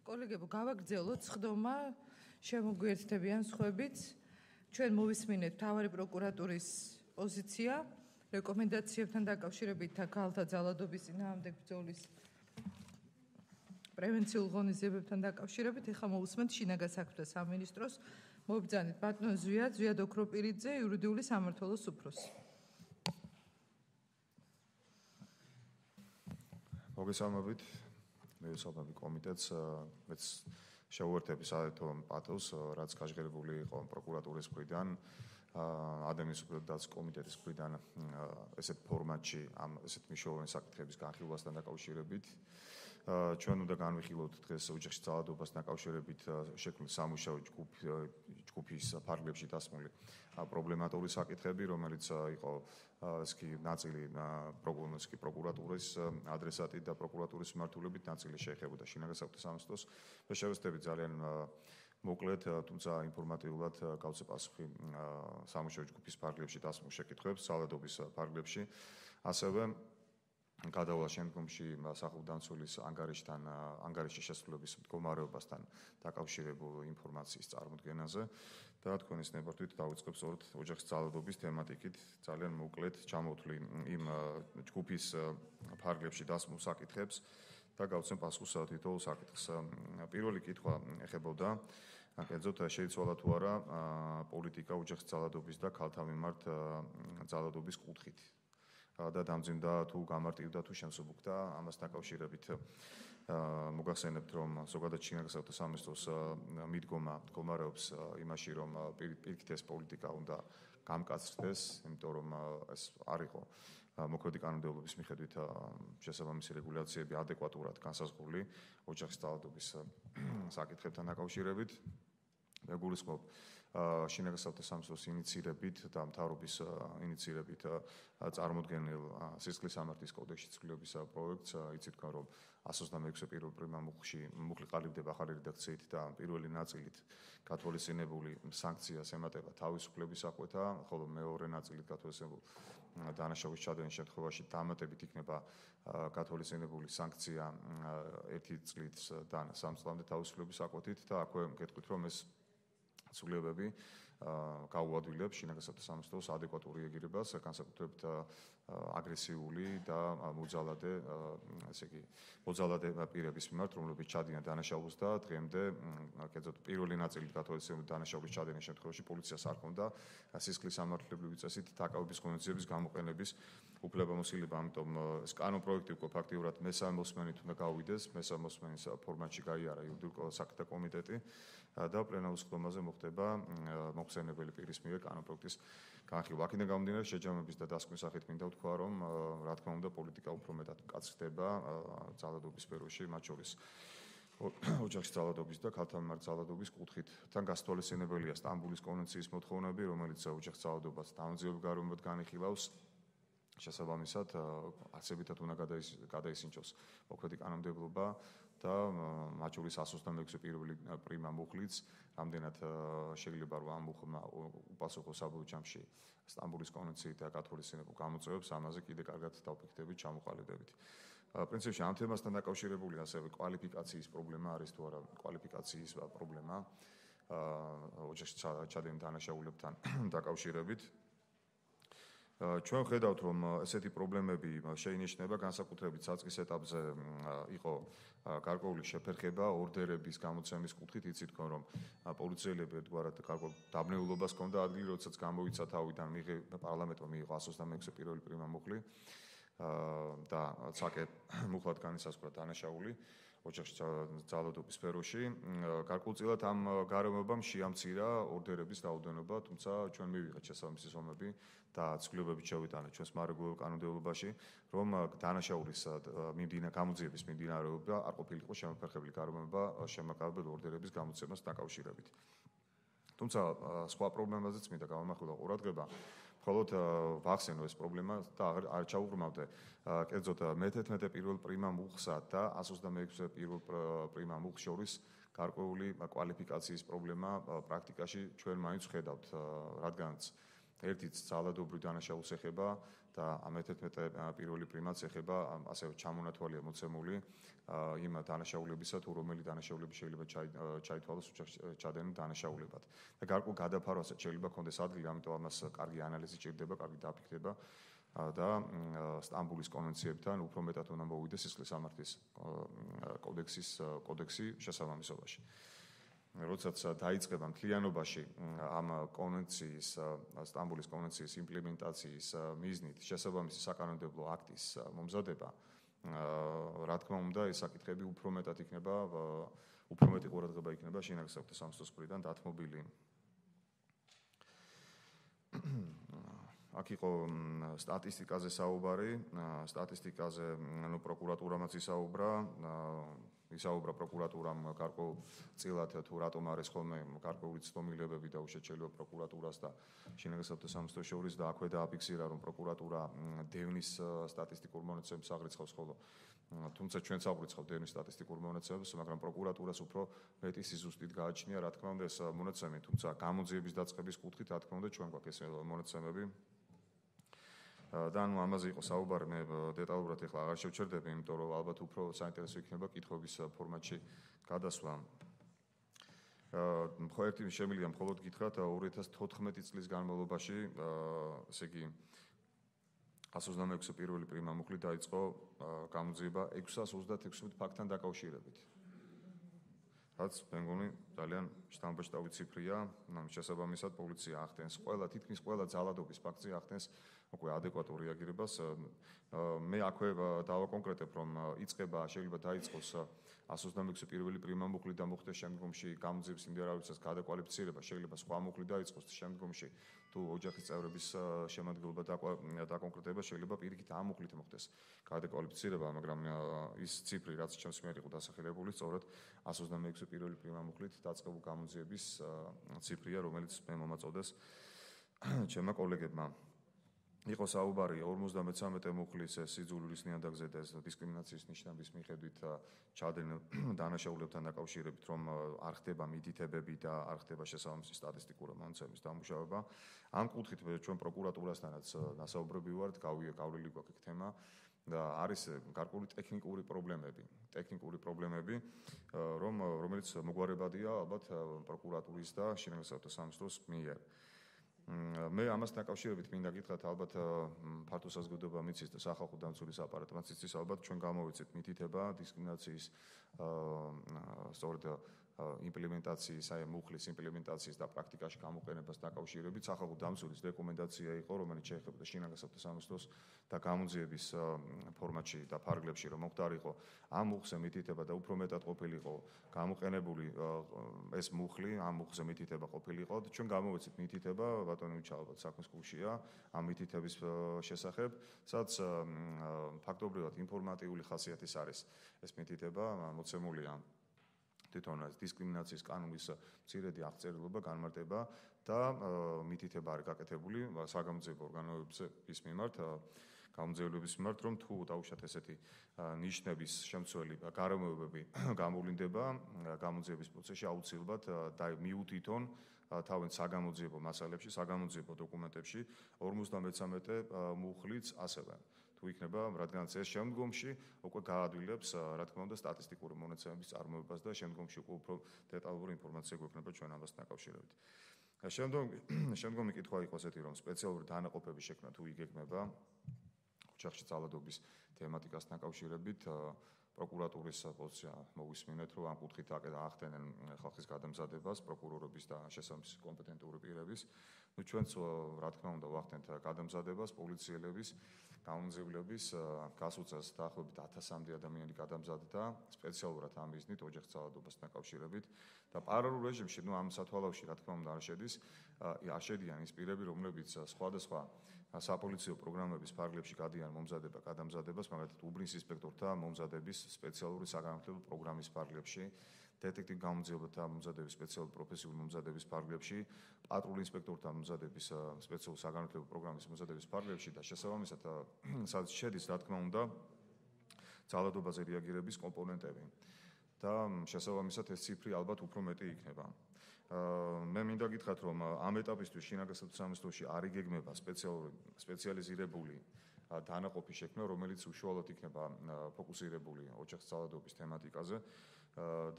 კოლეგებო, გავაგრძელოთ სხდომა შემოგვიერთდებიან სხვებიც. ჩვენ მოვისმინეთ მთავარი პროკურატურის პოზიცია, რეკომენდაციებთან დაკავშირებით და ქალთა ძალადობის წინააღმდეგ ბრძოლის პრევენციულ ღონისძიებებთან დაკავშირებით. ეხლა მოვისმენთ შინაგან საქმეთა სამინისტროს მობრძანით ბატონ ზვიად ოქროპირიძე, იურიდიული სამმართველოს უფროსი. მოგესალმებით, მე ვსაუბრობ კომიტეტს, მეც შეუერთები საერთო პათოს, რაც გაჟღერებული იყო პროკურატურის მხრიდან, ადამიანის უფლებათა დაცვის კომიტეტის მხრიდან ესეთ ფორმატში ამ ესეთ მნიშვნელოვანი საკითხების განხილვასთან დაკავშირებით. ჩვენ უნდა განვიხილოთ დღეს ოჯახის ძალადობასთან დაკავშირებით შექმნილ სამუშაო ჯგუფის ფარგლებში დასმული პრობლემატური საკითხები, რომელიც იყო ნაწილი პროკურატურის ადრესატით და პროკურატურის მიმართულებით, ნაწილი შეეხებოდა შინაგან საქმეთა სამინისტროს. მე შევეცდები ძალიან მოკლედ, თუმცა ინფორმატიულად გავცე პასუხი სამუშაო ჯგუფის ფარგლებში დასმულ შეკითხვებს, ძალადობის ფარგლებში, ასევე გადავალ შემდგომში სახელმწიფოს ანგარიშის შესრულების მდგომარეობასთან დაკავშირებულ ინფორმაციის წარმოდგენაზე და თქვენის ნებართვით დავიწყებ სწორედ ოჯახის ძალადობის თემატიკით, ძალიან მოკლედ ჩამოვთვლი იმ ჯგუფის ფარგლებში დასმულ საკითხებს და გავცემ პასუხს თითოეულ საკითხს. პირველი კითხვა ეხებოდა კერძოდ შეიცვალა თუ არა პოლიტიკა ოჯახის ძალადობის და ქალთა მიმართ ძალადობის კუთხით. და დამძიმდა თუ გამარტივდა თუ შემსუბუქდა ამასთან დაკავშირებით მოგახსენებთ რომ ზოგადად შინაგან საქმეთა სამინისტროს მიდგომა მდგომარეობს იმაში რომ პირიქით ეს პოლიტიკა უნდა გამკაცრდეს, იმიტომ რომ ეს არ იყო მოქმედი კანონმდებლობის მიხედვით შესაბამისი რეგულაციები ადეკვატურად განსაზღვრული ოჯახის ძალადობის საკითხებთან დაკავშირებით. მე გულისხმობ შინაგან საქმეთა სამინისტროს ინიციირებით და მთავრობის ინიციირებით წარმოდგენილ სისხლის სამართლის კოდექსში ცვლილების პროექტს, იცით თქვენ რომ 126 პირველ პრიმა მუხლი ყალიბდება ახალი რედაქციით და პირველი ნაწილით გათვალისწინებული სანქციას ემატება თავისუფლების აღკვეთა, ხოლო მეორე ნაწილით გათვალისწინებულ დანაშაულის ჩადენის შემთხვევაში დამატებით იქნება გათვალისწინებული სანქცია 1 წლიდან 3 წლამდე თავისუფლების აღკვეთით და აქვე გეტყვით რომ ეს ცვლილებები გაუადვილებს შინაგან საქმეთა სამინისტროს ადეკვატური ეგირებას, განსაკუთრებით აგრესიული და მოძალადე, ესე იგი, მოძალადე პირების მიმართ, რომლებიც ჩადიან დანაშაულს და დღემდე, კერძოდ პირველი ნაწილით გათვალისწინებული დანაშაულის ჩადენის შემთხვევაში პოლიციას არ ჰქონდა სისხლის სამართლებრივი წესით დაკავების ღონისძიების გამოყენების უფლებამოსილება, ამიტომ ეს კანონპროექტი უკვე ფაქტიურად მესამე მოსმენით უნდა გავიდეს, მესამე მოსმენის ფორმატში გაიარა იურიდიულ საქმეთა კომიტეტი და პლენარულ სხდომაზე მოხდება მოხსენებელი პირის მიერ კანონპროექტის განხილვა. აქედან გამომდინარე შეჯამების და დასკვნის სახით მინდა ვთქვა, რომ რა თქმა უნდა პოლიტიკა უფრო მეტად მკაცრდება ძალადობის სფეროში, მათ შორის ოჯახის ძალადობის და ქალთა მიმართ ძალადობის კუთხით. თან გასათვალისწინებელია სტამბულის კონვენციის მოთხოვნები, რომელიც ოჯახის ძალადობას დამოუკიდებელ გარემოებად განიხილავს. შესაბამისად, არსებითად უნდა გადაისინჯოს მოქმედი კანონმდებლობა და მათ შორის 126 პირველი პრიმა მუხლიც, რამდენად შეიძლება რომ ამ მუხლმა უპასუხო საბოლოო ჯამში სტამბულის კონვენციით და გათვალისწინებულ გამოწვევებს, ამაზე კიდე კარგად დავფიქრდებით, ჩამოყალიბდებით. პრინციპში ამ თემასთან დაკავშირებული ასევე კვალიფიკაციის პრობლემა არის თუ არა კვალიფიკაციის პრობლემა ოჯახის ჩადენილ დანაშაულებთან დაკავშირებით. ჩვენ ხედავთ რომ ესეთი პრობლემები შეინიშნება განსაკუთრებით საწყის ეტაპზე იყო გარკვეული შეფერხება ორდერების გამოცემის კუთხით, იცით თქვენ რომ პოლიციელები ერთგვარად გარკვეულ დაბნეულობას ჰქონდა ადგილი, როდესაც გამოვიცა თავიდან პარლამენტმა მიიღო 126 პირველი პრიმა მუხლი და ცაკე მუხლად განისაზღვრა დანაშაული ოჯახის ძალადობის სფეროში. გარკვეულწილად ამ გარემოებამ შეამცირა ორდერების რაოდენობა, თუმცა ჩვენ მივიღეთ შესაბამისი ზომები და ცვლილებებით შევიტანეთ ჩვენს მარეგულირებულ კანონმდებლობაში, რომ დანაშაულის გამოძიების მიმდინარეობა არ ყოფილიყო შემოფერხებული გარემოება შემაკავებელ ორდერების გამოცემას დაკავშირებით. თუმცა სხვა პრობლემაზეც მინდა გავამახვილო ყურადღება, მხოლოდ ვახსენო ეს პრობლემა და არ ჩაუღრმავდე, კერძოდ მე-11 პირველ პრიმა მუხლსა და 126 პირველ პრიმა მუხლს შორის გარკვეული კვალიფიკაციის პრობლემა პრაქტიკაში ჩვენ მაინც ვხედავთ, რადგანაც ერთიც ძალადობრივ დანაშაულს ეხება და მე-11 პირველი პრიმაც ეხება ასევე ჩამონათვალია მოცემული იმ დანაშაულებისა თუ რომელი დანაშაულები შეიძლება ჩაითვალოს ჩადენენ დანაშაულებად. და გარკვეულ გადაფარვასაც შეიძლება ქონდეს ადგილი, ამიტომ ამას კარგი ანალიზი ჭირდება, კარგი დაფიქრება და სტამბულის კონვენციებთან უფრო მეტად უნდა მოვიდეს სისხლის სამართლის კოდექსი შესაბამისობაში. როდესაც დაიწყება მთლიანობაში ამ კონვენციის სტამბულის კონვენციის იმპლემენტაციის მიზნით შესაბამისი საკანონმდებლო აქტის მომზადება, რა თქმა უნდა, ეს საკითხები უფრო მეტი ყურადღება იქნება შინაგან საქმეთა სამინისტროს მხრიდან დათმობილი. აქ იყო სტატისტიკაზე საუბარი, სტატისტიკაზე პროკურატურამაც ისაუბრა პროკურატურამ გარკვეულწილად თუ რატომ არის ხოლმე გარკვეული ცდომილებები და უშედეგო შეიძლება პროკურატურას და შინაგან საქმეთა სამინისტროს შორის და აქვე დააფიქსირა რომ პროკურატურა დევნის სტატისტიკურ მონაცემებს აღრიცხავს ხოლო თუმცა ჩვენც აღვიცხავთ დევნის სტატისტიკურ მონაცემებს, მაგრამ პროკურატურას უფრო მეტი სიზუსტით გააჩნია, რა თქმა უნდა, ეს მონაცემი, თუმცა გამოძიების დაწყების კუთხით, რა თქმა უნდა, ჩვენ გვაქვს ეს მონაცემები. და ამაზე იყო საუბარი, მე დეტალურად ახლა აღარ შევჩერდები, იმიტომ რომ ალბათ უფრო საინტერესო იქნება კითხვების ფორმატში გადასვლა. ერთი შემიძლია მხოლოდ გითხრათ 2014 წლის განმავლობაში, ესე იგი 126 პირველი პრიმა მუხლი დაიწყო გამოძიება 636 ფაქტთან დაკავშირებით. რაც მე მგონი ძალიან შთამბეჭდავი ციფრია, შესაბამისად პოლიცია ახდენს თითქმის ყველა ძალადობის ფაქტზე ახდენს უკვე ადეკვატურ რეაგირებას. მე აქვე დავაკონკრეტებ, რომ შეიძლება დაიწყოს 126 პირველი პრიმა მუხლი და მოხდეს შემდგომში გამოძიების მიმდინარეობისას გადაკვალიფიცირება, შეიძლება სხვა მუხლი დაიწყოს შემდგომში თუ ოჯახის წევრების შემადგენლობა დაკონკრეტება, შეიძლება პირიქით ამ მუხლით მოხდეს გადაკვალიფიცირება, მაგრამ ის ციფრი, რაც ჩემს მიერ იყო დასახელებული, სწორედ 126 პირველი პრიმა მუხლით დაწყებული გამოძიების ციფრია, რომელიც მე მომაწოდეს ჩემმა კოლეგებმა. იყო საუბარი 53 მუხლის სიძულვილის ნიადაგზე და ეს დისკრიმინაციის ნიშნების მიხედვით ჩადენილ დანაშაულებთან დაკავშირებით, რომ არ ხდება მითითებები და არ ხდება შესაბამისი სტატისტიკური მონაცემების დამუშავება. ამ კუთხით ჩვენ პროკურატურასთანაც დასაუბრები ვართ, გავლილი გვაქვს ეგ თემა და არის გარკვეული ტექნიკური პრობლემები, რომელიც მოგვარებადია ალბათ პროკურატურის და შინაგან საქმეთა სამინისტროს მიერ. მე ამასთან დაკავშირებით მინდა გითხრათ, ალბათ ფართო საზოგადოება მიცის და სახალხო დამცველის აპარატმაც იცის, ალბათ ჩვენ გამოვიცეთ მითითება დისკრიმინაციის სწორედ იმპლემენტაციის, მუხლის იმპლემენტაციის და პრაქტიკაში გამოყენებას დაკავშირებით სახალხო დამცველის რეკომენდაცია იყო, რომელიც შეეხებოდა შინაგან საქმეთა სამინისტროს და გამოძიების ფორმატში და ფარგლებში, რომ მოხდარიყო ამ მუხლზე მითითება და უფრო მეტად ყოფილიყო გამოყენებული ეს მუხლი, ამ მუხლზე მითითება ყოფილიყო და ჩვენ გამოვიცეთ მითითება, ბატონი უჩალბათ საქმის გულშია ამ მითითების შესახებ, სადაც ფაქტობრივად ინფორმატიული ხასიათის არის ეს მითითება, მოცემულია თვითონ დისკრიმინაციის კანონის მცირედი აღწერილობა, განმარტება და მითითება არის გაკეთებული საგამოძიებო ორგანოების მიმართ, გამომძიებლების მიმართ, რომ თუ დაუშვათ ესეთი ნიშნების შემცველი გარემოებები გამოვლინდება გამოძიების პროცესში, აუცილებლად და მიუთითონ თავენ საგამოძიებო მასალებში, საგამოძიებო დოკუმენტებში 53 მუხლიც ასევე. თუ იქნება, რადგანაც ეს შემდგომში უკვე გაადვილებს, რა თქმა უნდა, სტატისტიკური მონაცემების წარმოებას და შემდგომში უკვე უფრო დეტალური ინფორმაცია გვექნება ჩვენ ამასთან დაკავშირებით. შემდგომი კითხვა იყო ესეთი, რომ სპეციალური დანაყოფების შექმნა თუ იგეგმება ოჯახში ძალადობის თემატიკასთან დაკავშირებით, პროკურატურის პოზიცია მოვისმინეთ, რომ ამ კუთხით ახდენენ ხალხის გადამზადებას, პროკურორების და შესაბამისი კომპეტენტური პირების. ჩვენც რა თქმა უნდა ვახდენთ გადამზადებას, პოლიციელების გამომძიებლების გასუცას დაახლოებით 1000-მდე ადამიანი გადამზადდა სპეციალურად ამ მიზნით ოჯახის ძალადობასთან დაკავშირებით და პარალელურ რეჟიმში, ამ სათვალავში რა თქმა უნდა არ შედიან ის პირები, რომლებიც სხვადასხვა საპოლიციო პროგრამების ფარგლებში გადიან გადამზადებას, მაგალითად უბნის ინსპექტორთა მომზადების სპეციალური საგანმანათლებლო პროგრამის ფარგლებში, დეტექტივ გამომძიებელთა მომზადების სპეციალური პროფესიული მომზადების ფარგლებში, პატრულ ინსპექტორთა მომზადების სპეციალური საგანმანათლებლო პროგრამის მომზადების ფარგლებში და შესაბამისად სადაც შედის, რა თქმა უნდა, ძალადობაზე რეაგირების კომპონენტები. და შესაბამისად ეს ციფრი ალბათ უფრო მეტი იქნება. მე მინდა გითხრათ, რომ ამ ეტაპისთვის შინაგან სამინისტროში არ იგეგმება სპეციალიზირებული დანაყოფი შექმნა, რომელიც უშუალოდ იქნება ფოკუსირებული ოჯახსწავლადობის თემატიკაზე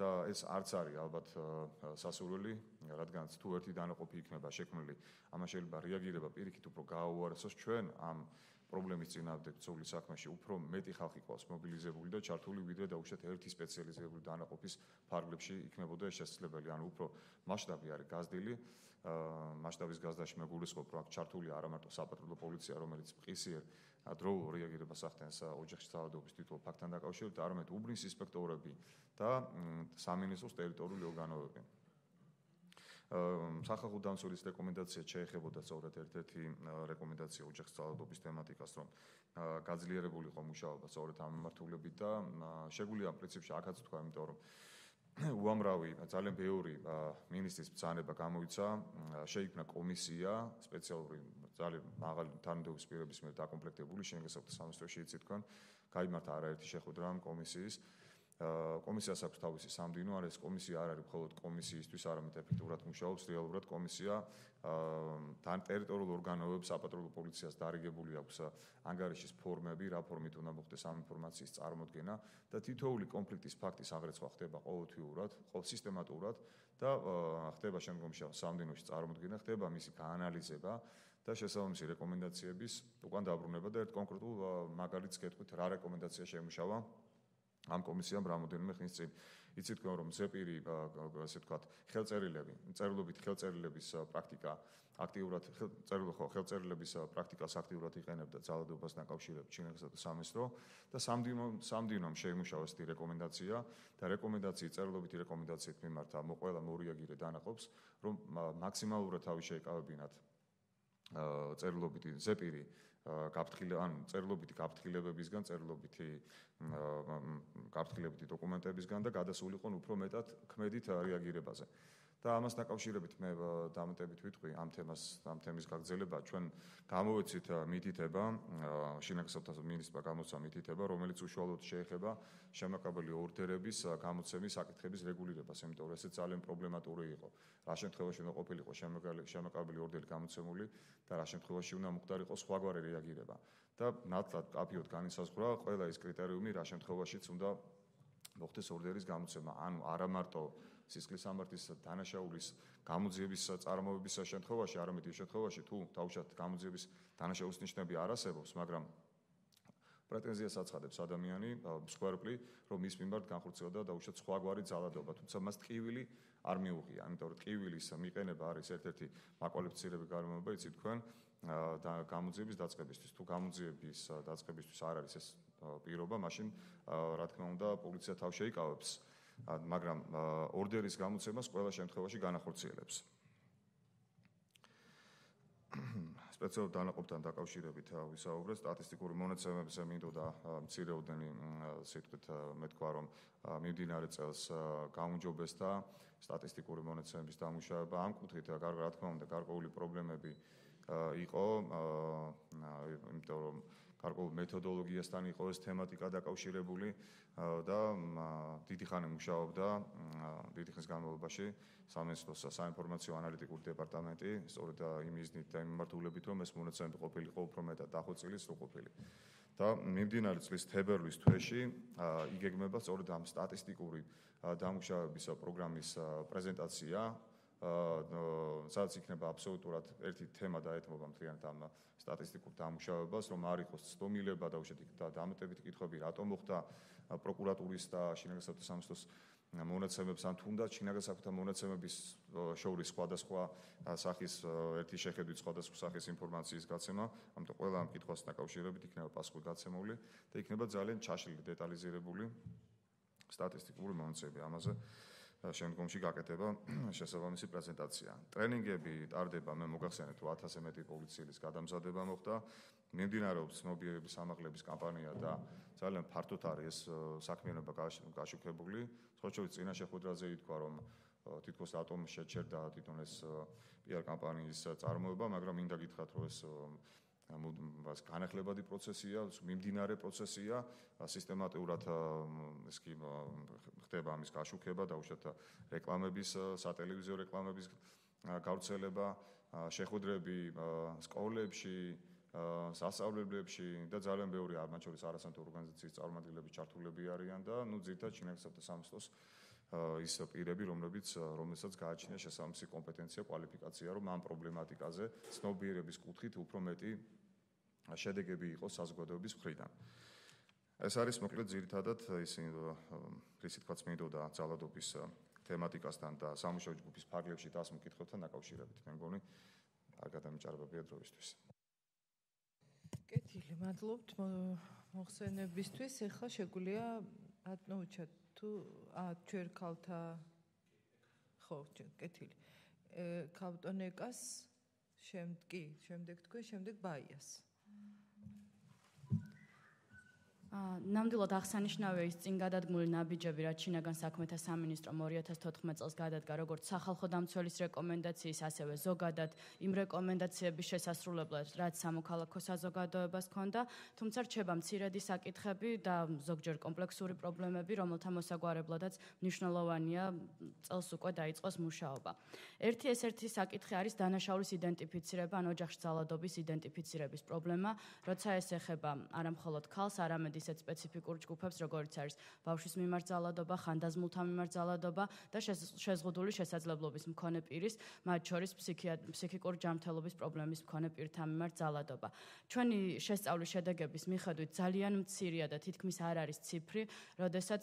და ეს არც არის ალბათ სასურველი, რადგანაც თუ ერთი დანაყოფი იქნება შექმნილი, ამას შეიძლება რეაგირება პირიქით უფრო გააუარესოს ჩვენ ამ პრობლემის წინააღმდეგ ბრძოლის საქმეში უფრო მეტი ხალხი ყავს მობილიზებული და ჩართული, ვიდრე დაუშვათ ერთი სპეციალიზირებული დანაყოფის ფარგლებში იქნებოდა ეს შესაძლებელი. ანუ უფრო მასშტაბი არის გაზრდილი. მასშტაბის გაზრდაში მე გულისხმობ, რომ აქ ჩართულია არა მარტო საპატრულო პოლიცია, რომელიც მყისიერ დროულ რეაგირებას ახდენს ოჯახში ძალადობის თითოეულ ფაქტთან დაკავშირებით, არამედ უბნის ინსპექტორები და სამინისტროს ტერიტორიული ორგანოები. სახალხო დამცველის რეკომენდაცია შეეხებოდა სწორედ ერთ-ერთი რეკომენდაცია ოჯახის ძალადობის თემატიკას, რომ გაძლიერებული იყო მუშაობა სწორედ ამ მიმართულებით და შეგვიძლია პრინციპში აქაც თქვა, იმიტომ რომ უამრავი ძალიან ბევრი მინისტრის ბრძანება გამოიცა, შეიქმნა კომისია სპეციალური ძალიან მაღალი თანამდებობის პირების მიერ დაკომპლექტებული შინაგან საქმეთა სამინისტროში იცით თქვენ, გაიმართა არაერთი შეხვედრა ამ კომისიის. კომისიას აქვს თავისი სამდივნო, არა ეს კომისია არ არის მხოლოდ კომისიისთვის, არამედ ეფექტურად მუშაობს რეალურად კომისია თან ტერიტორიულ ორგანოებს საპატრულო პოლიციას დარიგებული აქვს ანგარიშის ფორმები, რა ფორმით უნდა მოხდეს ამ ინფორმაციის წარმოდგენა და თითოეული კონფლიქტის ფაქტის აღრეცვა ხდება ყოველთვიურად, სისტემატურად და ხდება შემდგომში სამდივნოში წარმოდგენა, ხდება მისი გაანალიზება და შესაბამისი რეკომენდაციების უკან დაბრუნება და ერთ კონკრეტულ მაგალითს გეტყვით, რა რეკომენდაცია შეიმუშავა ამ კომისიამ რამოდენიმე ხნის წინ. იცით თქვენ რომ ზეპირი ასე ვთქვათ ხელწერილები, წერილობით ხელწერილების პრაქტიკა აქტიურად ხელწერილების პრაქტიკას აქტიურად იყენებდა ძალადობას დაკავშირებით შინაგან საქმეთა სამინისტრო და სამდივნომ შეიმუშავა ესეთი რეკომენდაცია და რეკომენდაციის წერილობითი რეკომენდაციით მიმართა ყველა მორიაგირე დანაყოფს, რომ მაქსიმალურად თავი შეეკავებინათ წერილობითი ზეპირი წერილობითი გაფრთხილებებისგან, წერილობითი გაფრთხილებითი დოკუმენტებისგან და გადასულიყო უფრო მეტად ქმედით რეაგირებაზე. და ამას დაკავშირებით მე დამატებით ვიტყვი ამ თემის გაგრძელება, ჩვენ გამოვეცით მითითება, შინაგან საქმეთა მინისტრმა გამოცა მითითება, რომელიც უშუალოდ შეეხება შემაკავებელი ორდერების გამოცემის საკითხების რეგულირებას, იმიტომ რომ ესეც ძალიან პრობლემატური იყო. რა შემთხვევაში უნდა ყოფილიყო შემაკავებელი ორდერი გამოცემული და რა შემთხვევაში უნდა მოხდარიყო სხვაგვარი რეაგირება. და ნათლად კაფიოდ განისაზღვრა ყველა ის კრიტერიუმი, რა შემთხვევაშიც უნდა მოხდეს ორდერის გამოცემა. ანუ არა მარტო სისხლის სამართლის დანაშაულის გამოძიების წარმოების შემთხვევაში, არამედ იმ შემთხვევაში, თუ თავშად გამოძიების დანაშაულის ნიშნები არ არსებობს, მაგრამ პრეტენზიას აცხადებს ადამიანი, მსხვერპლი, რომ მის მიმართ განხორციელდა დაუშვათ სხვაგვარი ძალადობა, თუმცა მას ტკივილი არ მიუღია, იმიტომ რომ ტკივილის მიყენება არის ერთ-ერთი მაკვალიფიცირებული გარემოება, იცით თქვენ, და გამოძიების დაწყებისთვის. თუ გამოძიების დაწყებისთვის არ არის ეს პირობა, მაშინ რა თქმა უნდა, პოლიცია თავ შეიკავებს, მაგრამ ორდერის გამოცემას ყველა შემთხვევაში განახორციელებს. სპეციალურ დანაყოფთან დაკავშირებით ვისაუბრეთ, სტატისტიკური მონაცემებზე მინდოდა მცირეოდენი სიტყვით მე თქვა, რომ მიმდინარე წელს გაუმჯობესდა სტატისტიკური მონაცემების დამუშავება. ამ კუთხით რა თქმა უნდა, გარკვეული პრობლემები იყო, იმიტომ რომ გარკვეულ მეთოდოლოგიასთან იყო ეს თემატიკა დაკავშირებული და დიდი ხანი მუშაობდა დიდი ხნის განმავლობაში სამინისტროს საინფორმაციო ანალიტიკური დეპარტამენტი, სწორედ იმ მიზნით და იმ მიმართულებით, რომ ეს მონაცემები ყოფილიყო უფრო მეტად დახვეწილი, სრულყოფილი. და მიმდინარე წლის თებერვლის თვეში იგეგმება სწორედ ამ სტატისტიკური დამუშავების პროგრამის პრეზენტაცია, სადაც იქნება აბსოლუტურად ერთი თემა დაეთმობა მთლიანად ამ სტატისტიკურ დამუშავებას, რომ არ იყოს ცდომილება და უშედეგი და დამატებითი კითხვები, რატომ მოხდა პროკურატურის და შინაგან საქმეთა სამინისტროს მონაცემებს, ან თუნდაც შინაგან საქმეთა მონაცემების შორის სხვადასხვა სახის ერთი შეხედვით სხვადასხვა სახის ინფორმაციის გაცემა, ამიტომ ყველა ამ კითხვასთან დაკავშირებით იქნება პასუხი გაცემული და იქნება ძალიან ჩაშლილი, დეტალიზირებული სტატისტიკური მონაცემები ამაზე. შემდგომში გაკეთება შესაბამისი პრეზენტაცია. ტრენინგები ტარდება, მე მოგახსენეთ, 1000-ზე მეტი პოლიციის გადამზადება მოხდა. მიმდინარეობს ცნობიერების ამაღლების კამპანია და ძალიან ფართოდ არის ეს საქმიანობა გაშუქებული. სხვაჩვეულის წინა შეხვედრაზე ითქვა, რომ თითქოს რატომ შეჩერდა თვითონ ეს PR კამპანიის წარმოება, მაგრამ მინდა გითხრათ, რომ ეს განახლებადი პროცესია, მიმდინარე პროცესია, სისტემატურად ეს კი ხდება ამის გაშუქება, დაუშვათ რეკლამების, სატელევიზიო რეკლამების გავრცელება, შეხვედრები სკოლებში, სასწავლებლებში და ძალიან ბევრი მათ შორის არასამთავრობო ორგანიზაციის წარმომადგენლები ჩართულები არიან და ძირითადად შინაგანსაკუთრებათა სამინისტროს ის პირები, რომელსაც გააჩნია შესაბამისი კომპეტენცია, კვალიფიკაცია, რომ ამ პრობლემატიკაზე ცნობიერების კუთხით უფრო მეტი შედეგები იყოს საზოგადოების მხრიდან. ეს არის მოკლედ ძირითადად ისეთი თქვა წმინდოდა ძალადობის თემატიკასთან და სამუშაო ჯგუფის ფარგლებში დასმულ კითხვებთან დაკავშირებით. მე მგონი არ გადამიჭარბებია დროისთვის. კეთილი, მადლობთ მოხსენებისთვის. ეხლა შეგვიძლია ატნოუჩა თუ ჩვენ ქალთა ხო, კეთილი. ქავტონეკას შემდეგ თქვენ, შემდეგ ბაიას. ნამდვილად აღსანიშნავია ის წინ გადადგმული ნაბიჯები, რაც შინაგან საქმეთა სამინისტრომ 2014 წელს გადადგა როგორც სახალხო დამცველის რეკომენდაციის, ასევე ზოგადად იმ რეკომენდაციების შესასრულებლად, რაც სამოქალაქო საზოგადოებას ჰქონდა, თუმცა რჩება მცირედი საკითხები და ზოგჯერ კომპლექსური პრობლემები, რომელთა მოსაგვარებლადაც მნიშვნელოვანია წელს უკვე დაიწყოს მუშაობა. ერთი საკითხი არის დანაშაულის იდენტიფიცირება, ან ოჯახში ძალადობის იდენტიფიცირების პრობლემა, როცა ეს ეხება არა მხოლოდ ქალს, არამედ ისეთ სპეციფიკურ ჯგუფებს, როგორც არის ბავშვის მიმართ ძალადობა, ხანდაზმულთა მიმართ ძალადობა და შეზღუდული შესაძლებლობის მქონე პირის, მათ შორის ფსიქიკური ჯანმრთელობის პრობლემის მქონე პირთა მიმართ ძალადობა. ჩვენი შესწავლის შედეგების მიხედვით ძალიან მცირეა და თითქმის არ არის ციფრი, როდესაც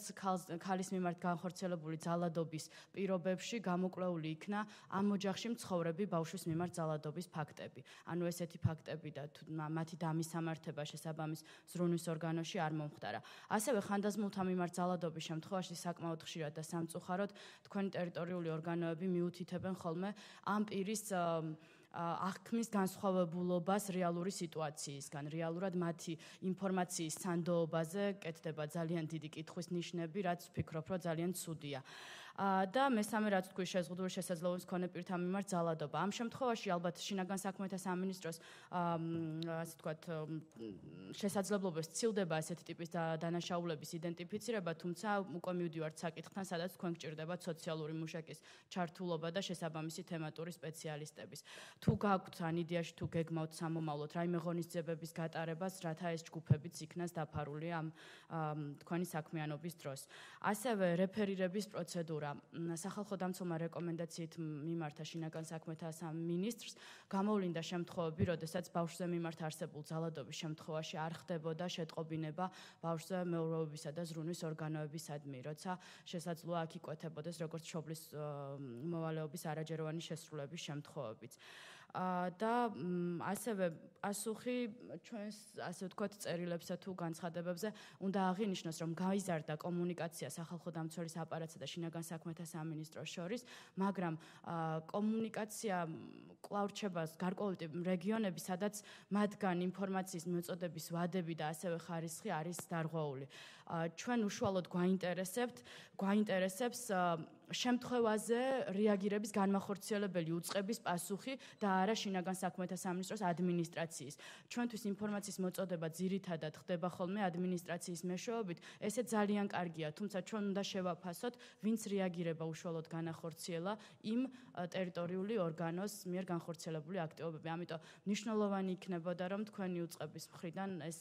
ქალის მიმართ განხორციელებული ძალადობის პირობებში გამოკვლეული იქნა ამ ოჯახში მცხოვრები ბავშვის მიმართ ძალადობის ფაქტები. ანუ ესეთი ფაქტები და მათი დამისამართება შესაბამის ზრუნვის ორგანოში არ მომხდარა. ასევე ხანდაზმულთა მიმართ ძალადობის შემთხვევაში საკმაოდ ხშირად და სამწუხაროდ თქვენი ტერიტორიული ორგანოები მიუთითებენ ხოლმე ამ პირის აღქმის განსხვავებულობას რეალური სიტუაციისგან. რეალურად მათი ინფორმაციის სანდოობაზე კეთდება ძალიან დიდი კითხვის ნიშნები, რაც ვფიქრობ, რომ ძალიან ცუდია. და მესამე რაც თქვი შეზღუდული შესაძლებლობის მქონე პირთა მიმართ ძალადობა. ამ შემთხვევაში ალბათ შინაგან საქმეთა სამინისტროს ასე ვთქვათ შესაძლებლობებს ცილდება ასეთი ტიპის დანაშაულების იდენტიფიცირება, თუმცა უკვე მივდივართ საკითხთან, სადაც თქვენ გჭირდებათ სოციალური მუშაკის ჩართულობა და შესაბამისი თემატური სპეციალისტების. თუ გაქვთ ან იდეაში თუ გეგმავთ სამომავლოდ რაიმე ღონისძიებების გატარებას, რათა ეს ჯგუფებიც იქნას დაფარული ამ თქვენი საქმიანობის დროს. ასევე რეფერირების პროცედურა სახალხო დამცველმა რეკომენდაციით მიმართა შინაგან საქმეთა სამინისტრს გამოვლინდა შემთხვევები, როდესაც ბავშვზე მიმართ არსებულ ძალადობის შემთხვევაში არ ხდებოდა შეტყობინება ბავშვზე მეურვეობისა და ზრუნვის ორგანოებისადმი, როცა შესაძლოა აქ იკვეთებოდეს როგორც მშობლის მოვალეობის არაჯეროვანი შესრულების შემთხვევებიც. და ასევე პასუხი ჩვენს ასე ვთქვათ წერილებსა თუ განცხადებებზე უნდა აღინიშნოს, რომ გაიზარდა კომუნიკაცია სახალხო დამცველის აპარატსა და შინაგან საქმეთა სამინისტროს შორის, მაგრამ კომუნიკაცია კვლავ რჩება გარკვეული რეგიონები, სადაც მათგან ინფორმაციის მოწოდების ვადები და ასევე ხარისხი არის დარღვეული. ჩვენ უშუალოდ გვაინტერესებს შემთხვევაზე რეაგირების განმახორციელებელი უწყების პასუხი და არა შინაგან საქმეთა სამინისტროს ადმინისტრაციის. ჩვენთვის ინფორმაციის მოწოდება ძირითადად ხდება ხოლმე ადმინისტრაციის მეშვეობით, ესე ძალიან კარგია, თუმცა ჩვენ უნდა შევაფასოთ, ვინც რეაგირება უშუალოდ განახორციელა იმ ტერიტორიული ორგანოს მიერ განხორციელებული აქტივობები. ამიტომ მნიშვნელოვანი იქნებოდა, რომ თქვენი უწყების მხრიდან ეს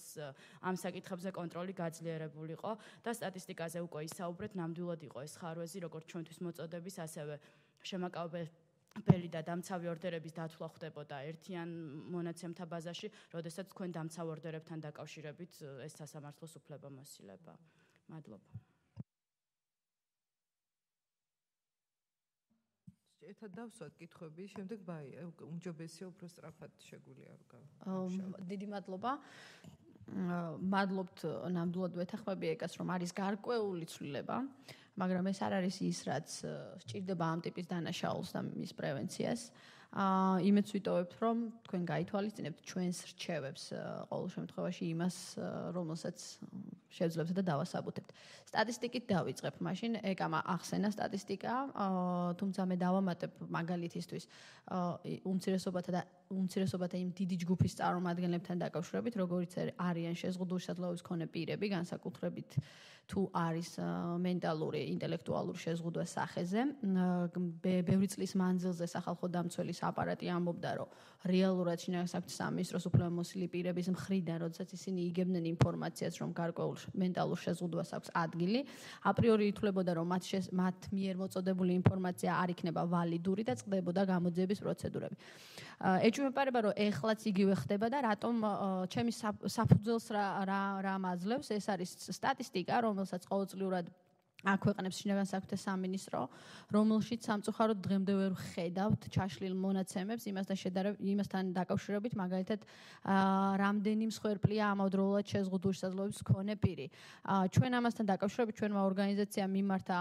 ამ საკითხებზე კონტროლი გაძლიერებულიყო და სტატისტიკაზე უკვე ისაუბრეთ, ნამდვილად იყო ეს ხარვეზი, როგორც ჩვენთვის მოწოდების, ასევე შემაკავებელი და დამცავი ორდერების დათვლა ხდებოდა ერთიან მონაცემთა ბაზაში, როდესაც თქვენ დამცავ ორდერებთან დაკავშირებით ეს სასამართლოს უფლებამოსილება. მადლობა. ერთად დავსვათ კითხვები, შემდეგ ბაია, უმჯობესია უფრო სწრაფად შეგვიძლია გავ. დიდი მადლობა. მადლობთ ნამდვილად ვეთანხმები ეკას, რომ არის გარკვეული ცვლილება, მაგრამ ეს არ არის ის, რაც სჭირდება ამ ტიპის დანაშაულს და მის პრევენციას. იმეც ვიტოვებთ, რომ თქვენ გაითვალისწინებთ ჩვენს რჩევებს ყოველ შემთხვევაში იმას, რომელსაც შევძლებთ და დავასაბუთებთ. სტატისტიკით დავიწყებ, მაშინ ეკამა ახსენა სტატისტიკა, თუმცა მე დავამატებ მაგალითისთვის უმცირესობათა იმ დიდი ჯგუფის წარმომადგენლებთან დაკავშირებით, როგორიც არიან შეზღუდულსადლოების მქონე პირები, განსაკუთრებით თუ არის მენტალური, ინტელექტუალური შეზღუდვა სახეზე. ბევრი წლის მანძილზე სახალხო დამცველის აპარატი ამბობდა, რომ რეალურად შინაგან საქმეთა სამინისტროს უფლებამოსილი პირების მხრიდან, როდესაც ისინი იგებდნენ ინფორმაციას, რომ გარკვეულ მენტალურ შეზღუდვას აქვს ადგილი, აპრიორი ითვლებოდა, რომ მათ მიერ მოწოდებული ინფორმაცია არ იქნება ვალიდური და წყდებოდა გამოძიების პროცედურები. ეჭვმეპარება, რომ ეხლაც იგივე ხდება და რატომ ჩემი საფუძველს რა მაძლევს, ეს არის სტატისტიკა, რომელსაც ყოველწლიურად აქვეყნებს შინაგან საქმეთა სამინისტრო, რომელშიც სამწუხაროდ დღემდე ვერ ხედავთ ჩაშლილ მონაცემებს იმასთან დაკავშირებით, მაგალითად, რამდენი მსხვერპლია ამავდროულად შეზღუდული შესაძლებლობის მქონე პირი. ჩვენ ამასთან დაკავშირებით ჩვენმა ორგანიზაციამ მიმართა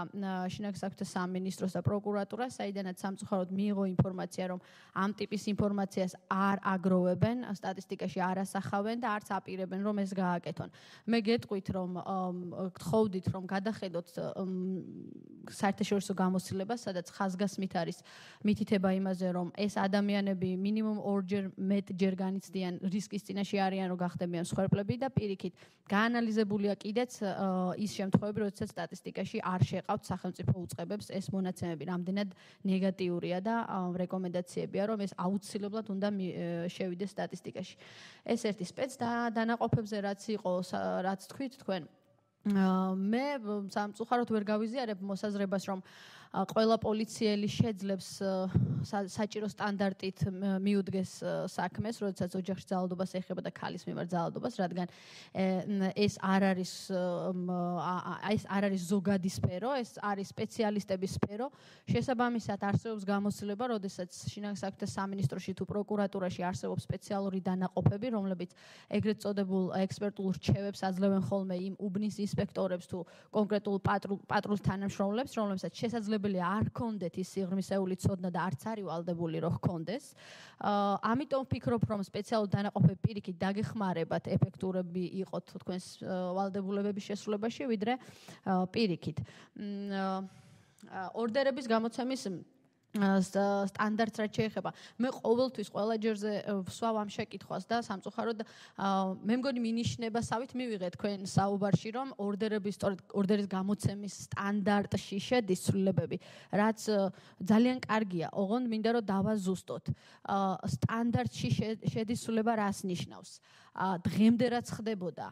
შინაგან საქმეთა სამინისტროს და პროკურატურას, საიდანაც სამწუხაროდ მიიღო ინფორმაცია, რომ ამ ტიპის ინფორმაციას არ აგროვებენ, სტატისტიკაში არ ასახავენ და არც აპირებენ, რომ ეს გააკეთონ. მე გეტყვით, რომ გთხოვდით, რომ გადახედოთ საერთაშორისო გამოცდილებას, სადაც ხაზგასმით არის მითითება იმაზე, რომ ეს ადამიანები მინიმუმ 2-ჯერ მეტჯერ განიცდიან რისკის წინაშე არიან, რომ გახდებიან მსხვერპლები და პირიქით გაანალიზებულია კიდეც ის შემთხვევები, როდესაც სტატისტიკაში არ შეყავთ სახელმწიფო უწყებებს ეს მონაცემები, რამდენად ნეგატიურია და რეკომენდაციებია, რომ ეს აუცილებლად უნდა შევიდეს სტატისტიკაში. ეს ერთი სპეც დანაყოფებზე რაც იყო, რაც თქვით თქვენ მე სამწუხაროდ ვერ გავიზიარებ მოსაზრებას, რომ ყველა პოლიციელი შეძლებს საჭირო სტანდარტით მიუდგეს საქმეს, როდესაც ოჯახში ძალადობას ეხება და ქალის მიმართ ძალადობას, რადგან ეს არ არის ზოგადი სფერო, ეს არის სპეციალისტების სფერო. შესაბამისად არსებობს გამოცდილება, როდესაც შინაგან საქმეთა სამინისტროში თუ პროკურატურაში არსებობს სპეციალური დანაყოფები, რომლებიც ეგრეთ წოდებულ ექსპერტულ რჩევებს აძლევენ ხოლმე იმ უბნის ინსპექტორებს თუ კონკრეტულ პატრულს თანამშრომლებს, რომლებსაც შესაძლებელი არ ჰქონდეთ ის სიღრმისეული ცოდნა და არც არის ვალდებული რომ ჰქონდეს. ამიტომ ვფიქრობ, რომ სპეციალური დანაყოფები პირიქით დაგეხმარებათ ეფექტურები იყოთ თქვენს ვალდებულებების შესრულებაში, ვიდრე პირიქით. ორდერების გამოცემის სტანდარტს რაც შეეხება. მე ყოველთვის ყველა ჯერზე ვსვავ ამ შეკითხვას და სამწუხაროდ მე მგონი მინიშნებასავით მივიღეთ თქვენ საუბარში, რომ ორდერის გამოცემის სტანდარტში შედის ცვლილებები, რაც ძალიან კარგია. ოღონდ მინდა რომ დავაზუსტოთ. სტანდარტში შედის ცვლილება რას ნიშნავს? დღემდე რაც ხდებოდა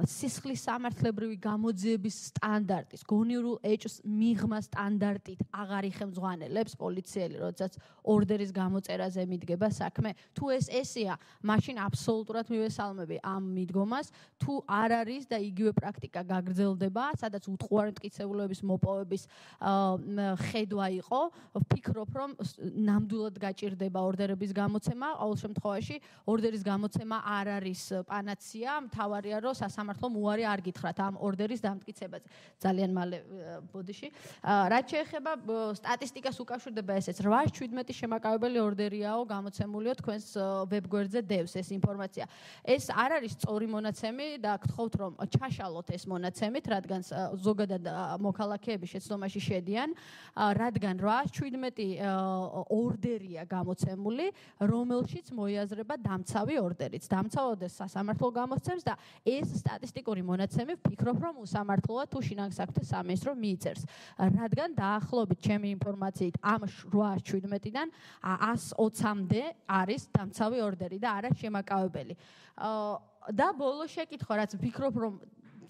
სისხლის სამართლებრივი გამოძიების სტანდარტის, გონივრულ ეჭვს მიღმა სტანდარტით აღარ იხელმძღვანელებს პოლიციელი, როდესაც ორდერის გამოწერაზე მიდგება საქმე. თუ ესეა, მაშინ აბსოლუტურად მივესალმები ამ მიდგომას. თუ არ არის და იგივე პრაქტიკა გაგრძელდება, სადაც უტყუარი მტკიცებულების მოპოვების ხედვა იყო, ვფიქრობ, რომ ნამდვილად გაჭირდება ორდერების გამოცემა. ყოველ შემთხვევაში ორდერის გამოცემა არ არის პანაცია, მთავარია რომ სასამართლომ უარი არ გითხრათ ამ ორდერის დამტკიცებაზე. ძალიან მალე ბოდიში. რაც შეეხება სტატისტიკას უკავშირდება ესეც 8-17 შემაკავებელი ორდერიაო გამოცემულიო თქვენს ვებგვერდზე დევს ეს ინფორმაცია. ეს არ არის სწორი მონაცემი და გთხოვთ რომ ჩაშალოთ ეს მონაცემით, რადგან ზოგადად მოქალაქეები შეცდომაში შედიან, რადგან 8-17 ორდერია გამოცემული, რომელშიც მოიაზრება დამცავი ორდერიც. დამცავად სასამართლო გამოსცემს და ეს სტატისტიკური მონაცემი ვფიქრობ, რომ უსამართლოა თუ შინაგან საქმეთა სამინისტრო მიიწერს. რადგან დაახლოებით ჩემი ინფორმაციით ამ 8-17-დან 120-მდე არის დამცავი ორდერი და არა შემაკავებელი. და ბოლო შეკითხვა, რაც ვფიქრობ, რომ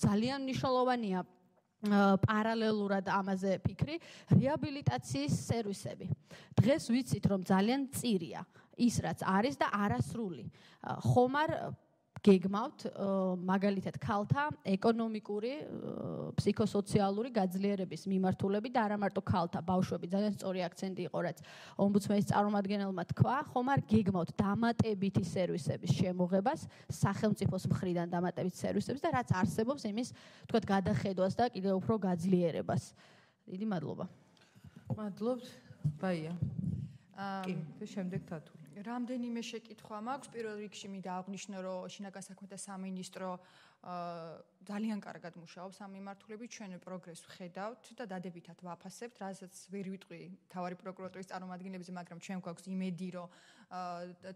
ძალიან მნიშვნელოვანია პარალელურად ამაზე ფიქრი, რეაბილიტაციის სერვისები. დღეს ვიცით, რომ ძალიან მწირია ის რაც არის და არასრული. ხომარ გეგმავთ მაგალითად ქალთა ეკონომიკური, ფსიქოსოციალური გაძლიერების მიმართულები და არა მარტო ქალთა, ბავშვები, ძალიან სწორი აქცენტი იყო, რაც ომბუდსმენის წარმომადგენელმა თქვა, ხომ არ გეგმავთ დამატებითი სერვისების შემოღებას, სახელმწიფოს მხრიდან დამატებითი სერვისების და რაც არსებობს იმის, თქვათ, გადახედვას და კიდევ უფრო გაძლიერებას. დიდი მადლობა. მადლობთ, ბაია. კი და შემდეგ თათული. რამდენიმე შეკითხვა მაქვს. პირველ რიგში მინდა აღვნიშნო, რომ შინაგან საქმეთა სამინისტრო ძალიან კარგად მუშაობს ამ მიმართულებით, ჩვენ პროგრესს ვხედავთ და დადებითად ვაფასებთ, რასაც ვერ ვიტყვი თავარი პროკურატურის წარმომადგენლებზე, მაგრამ ჩვენ გვაქვს იმედი, რომ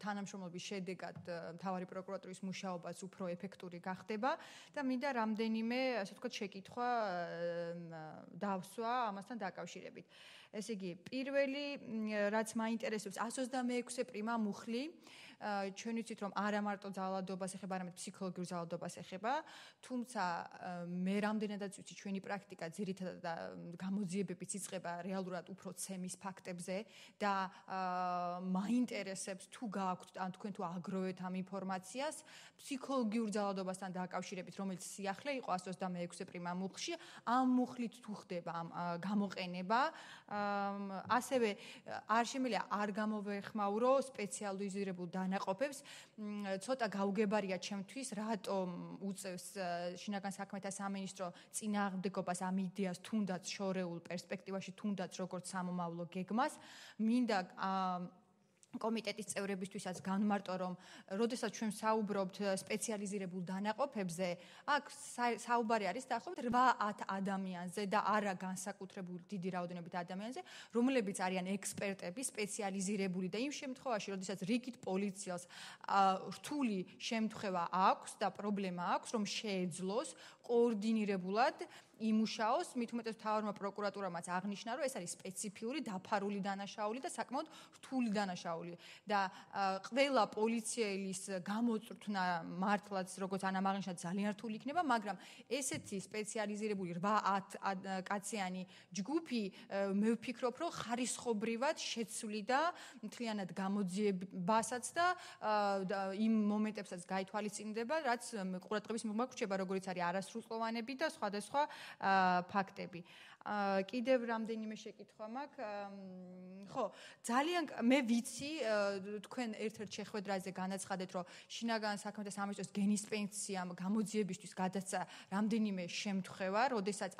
თანამშრომლობის შედეგად თავარი პროკურატურის მუშაობაც უფრო ეფექტური გახდება და მინდა რამდენიმე, ასე ვთქვათ, შეკითხვა დავსვა ამასთან დაკავშირებით. ესე იგი, პირველი, რაც მაინტერესებს, 126 პრიმა მუხლი, ჩვენ ვიცით, რომ არა მარტო ძალადობას ეხება, არამედ ფსიქოლოგიურ ძალადობას ეხება, თუმცა მე რამდენადაც ვიცი, ჩვენი პრაქტიკა ძირითადად გამოძიებებიც იწყება რეალურად უფრო ცემის ფაქტებზე და მაინტერესებს თუ გააქვთ ან თქვენ თუ აგროვეთ ამ ინფორმაციას ფსიქოლოგიურ ძალადობასთან დაკავშირებით, რომელიც სიახლე იყო 126 პრიმა მუხლში, ამ მუხლით თუ ხდება ამ გამოყენება, ასევე არ შემიძლია არ გამოვეხმაურო სპეციალიზირებულ დანაყოფებს, ცოტა გაუგებარია ჩემთვის, რატომ უწევს შინაგან საქმეთა სამინისტრო წინააღმდეგობას ამ იდეას თუნდაც შორეულ პერსპექტივაში, თუნდაც როგორც სამომავლო გეგმას, მინდა კომიტეტის წევრებისთვისაც განმარტო, რომ როდესაც ჩვენ საუბრობთ სპეციალიზირებულ დანაყოფებზე, აქ საუბარი არის დაახლოებით 8-10 ადამიანზე და არა განსაკუთრებული დიდი რაოდენობით ადამიანზე, რომლებიც არიან ექსპერტები, სპეციალიზირებული და იმ შემთხვევაში, როდესაც რიგით პოლიციას რთული შემთხვევა აქვს და პრობლემა აქვს, რომ შეეძლოს კოორდინირებულად იმუშაოს, მით უმეტეს მთავარმა პროკურატურამაც აღნიშნა, რომ ეს არის სპეციფიური დაფარული დანაშაული და საკმაოდ რთული დანაშაული და ყველა პოლიციელის გამოწვრთნა მართლაც როგორც ანამ აღნიშნა ძალიან რთული იქნება, მაგრამ ესეთი სპეციალიზირებული 8-10 კაციანი ჯგუფი მე ვფიქრობ, რომ ხარისხობრივად შეცვლიდა მთლიანად გამოძიებასაც და იმ მომენტებსაც გაითვალისწინდება, რაც ყურადღების მიღება გრჩება, როგორც არის არასრულწლოვანები და სხვადასხვა ფაქტები. კიდევ რამდენიმე შეკითხვა მაქვს. ხო, ძალიან მე ვიცი, თქვენ ერთ-ერთ შეხვედრაზე განაცხადეთ, რომ შინაგან საქმეთა სამინისტროს გენისპენსიამ გამოძიებისთვის გადასცა რამდენიმე შემთხვევა, როდესაც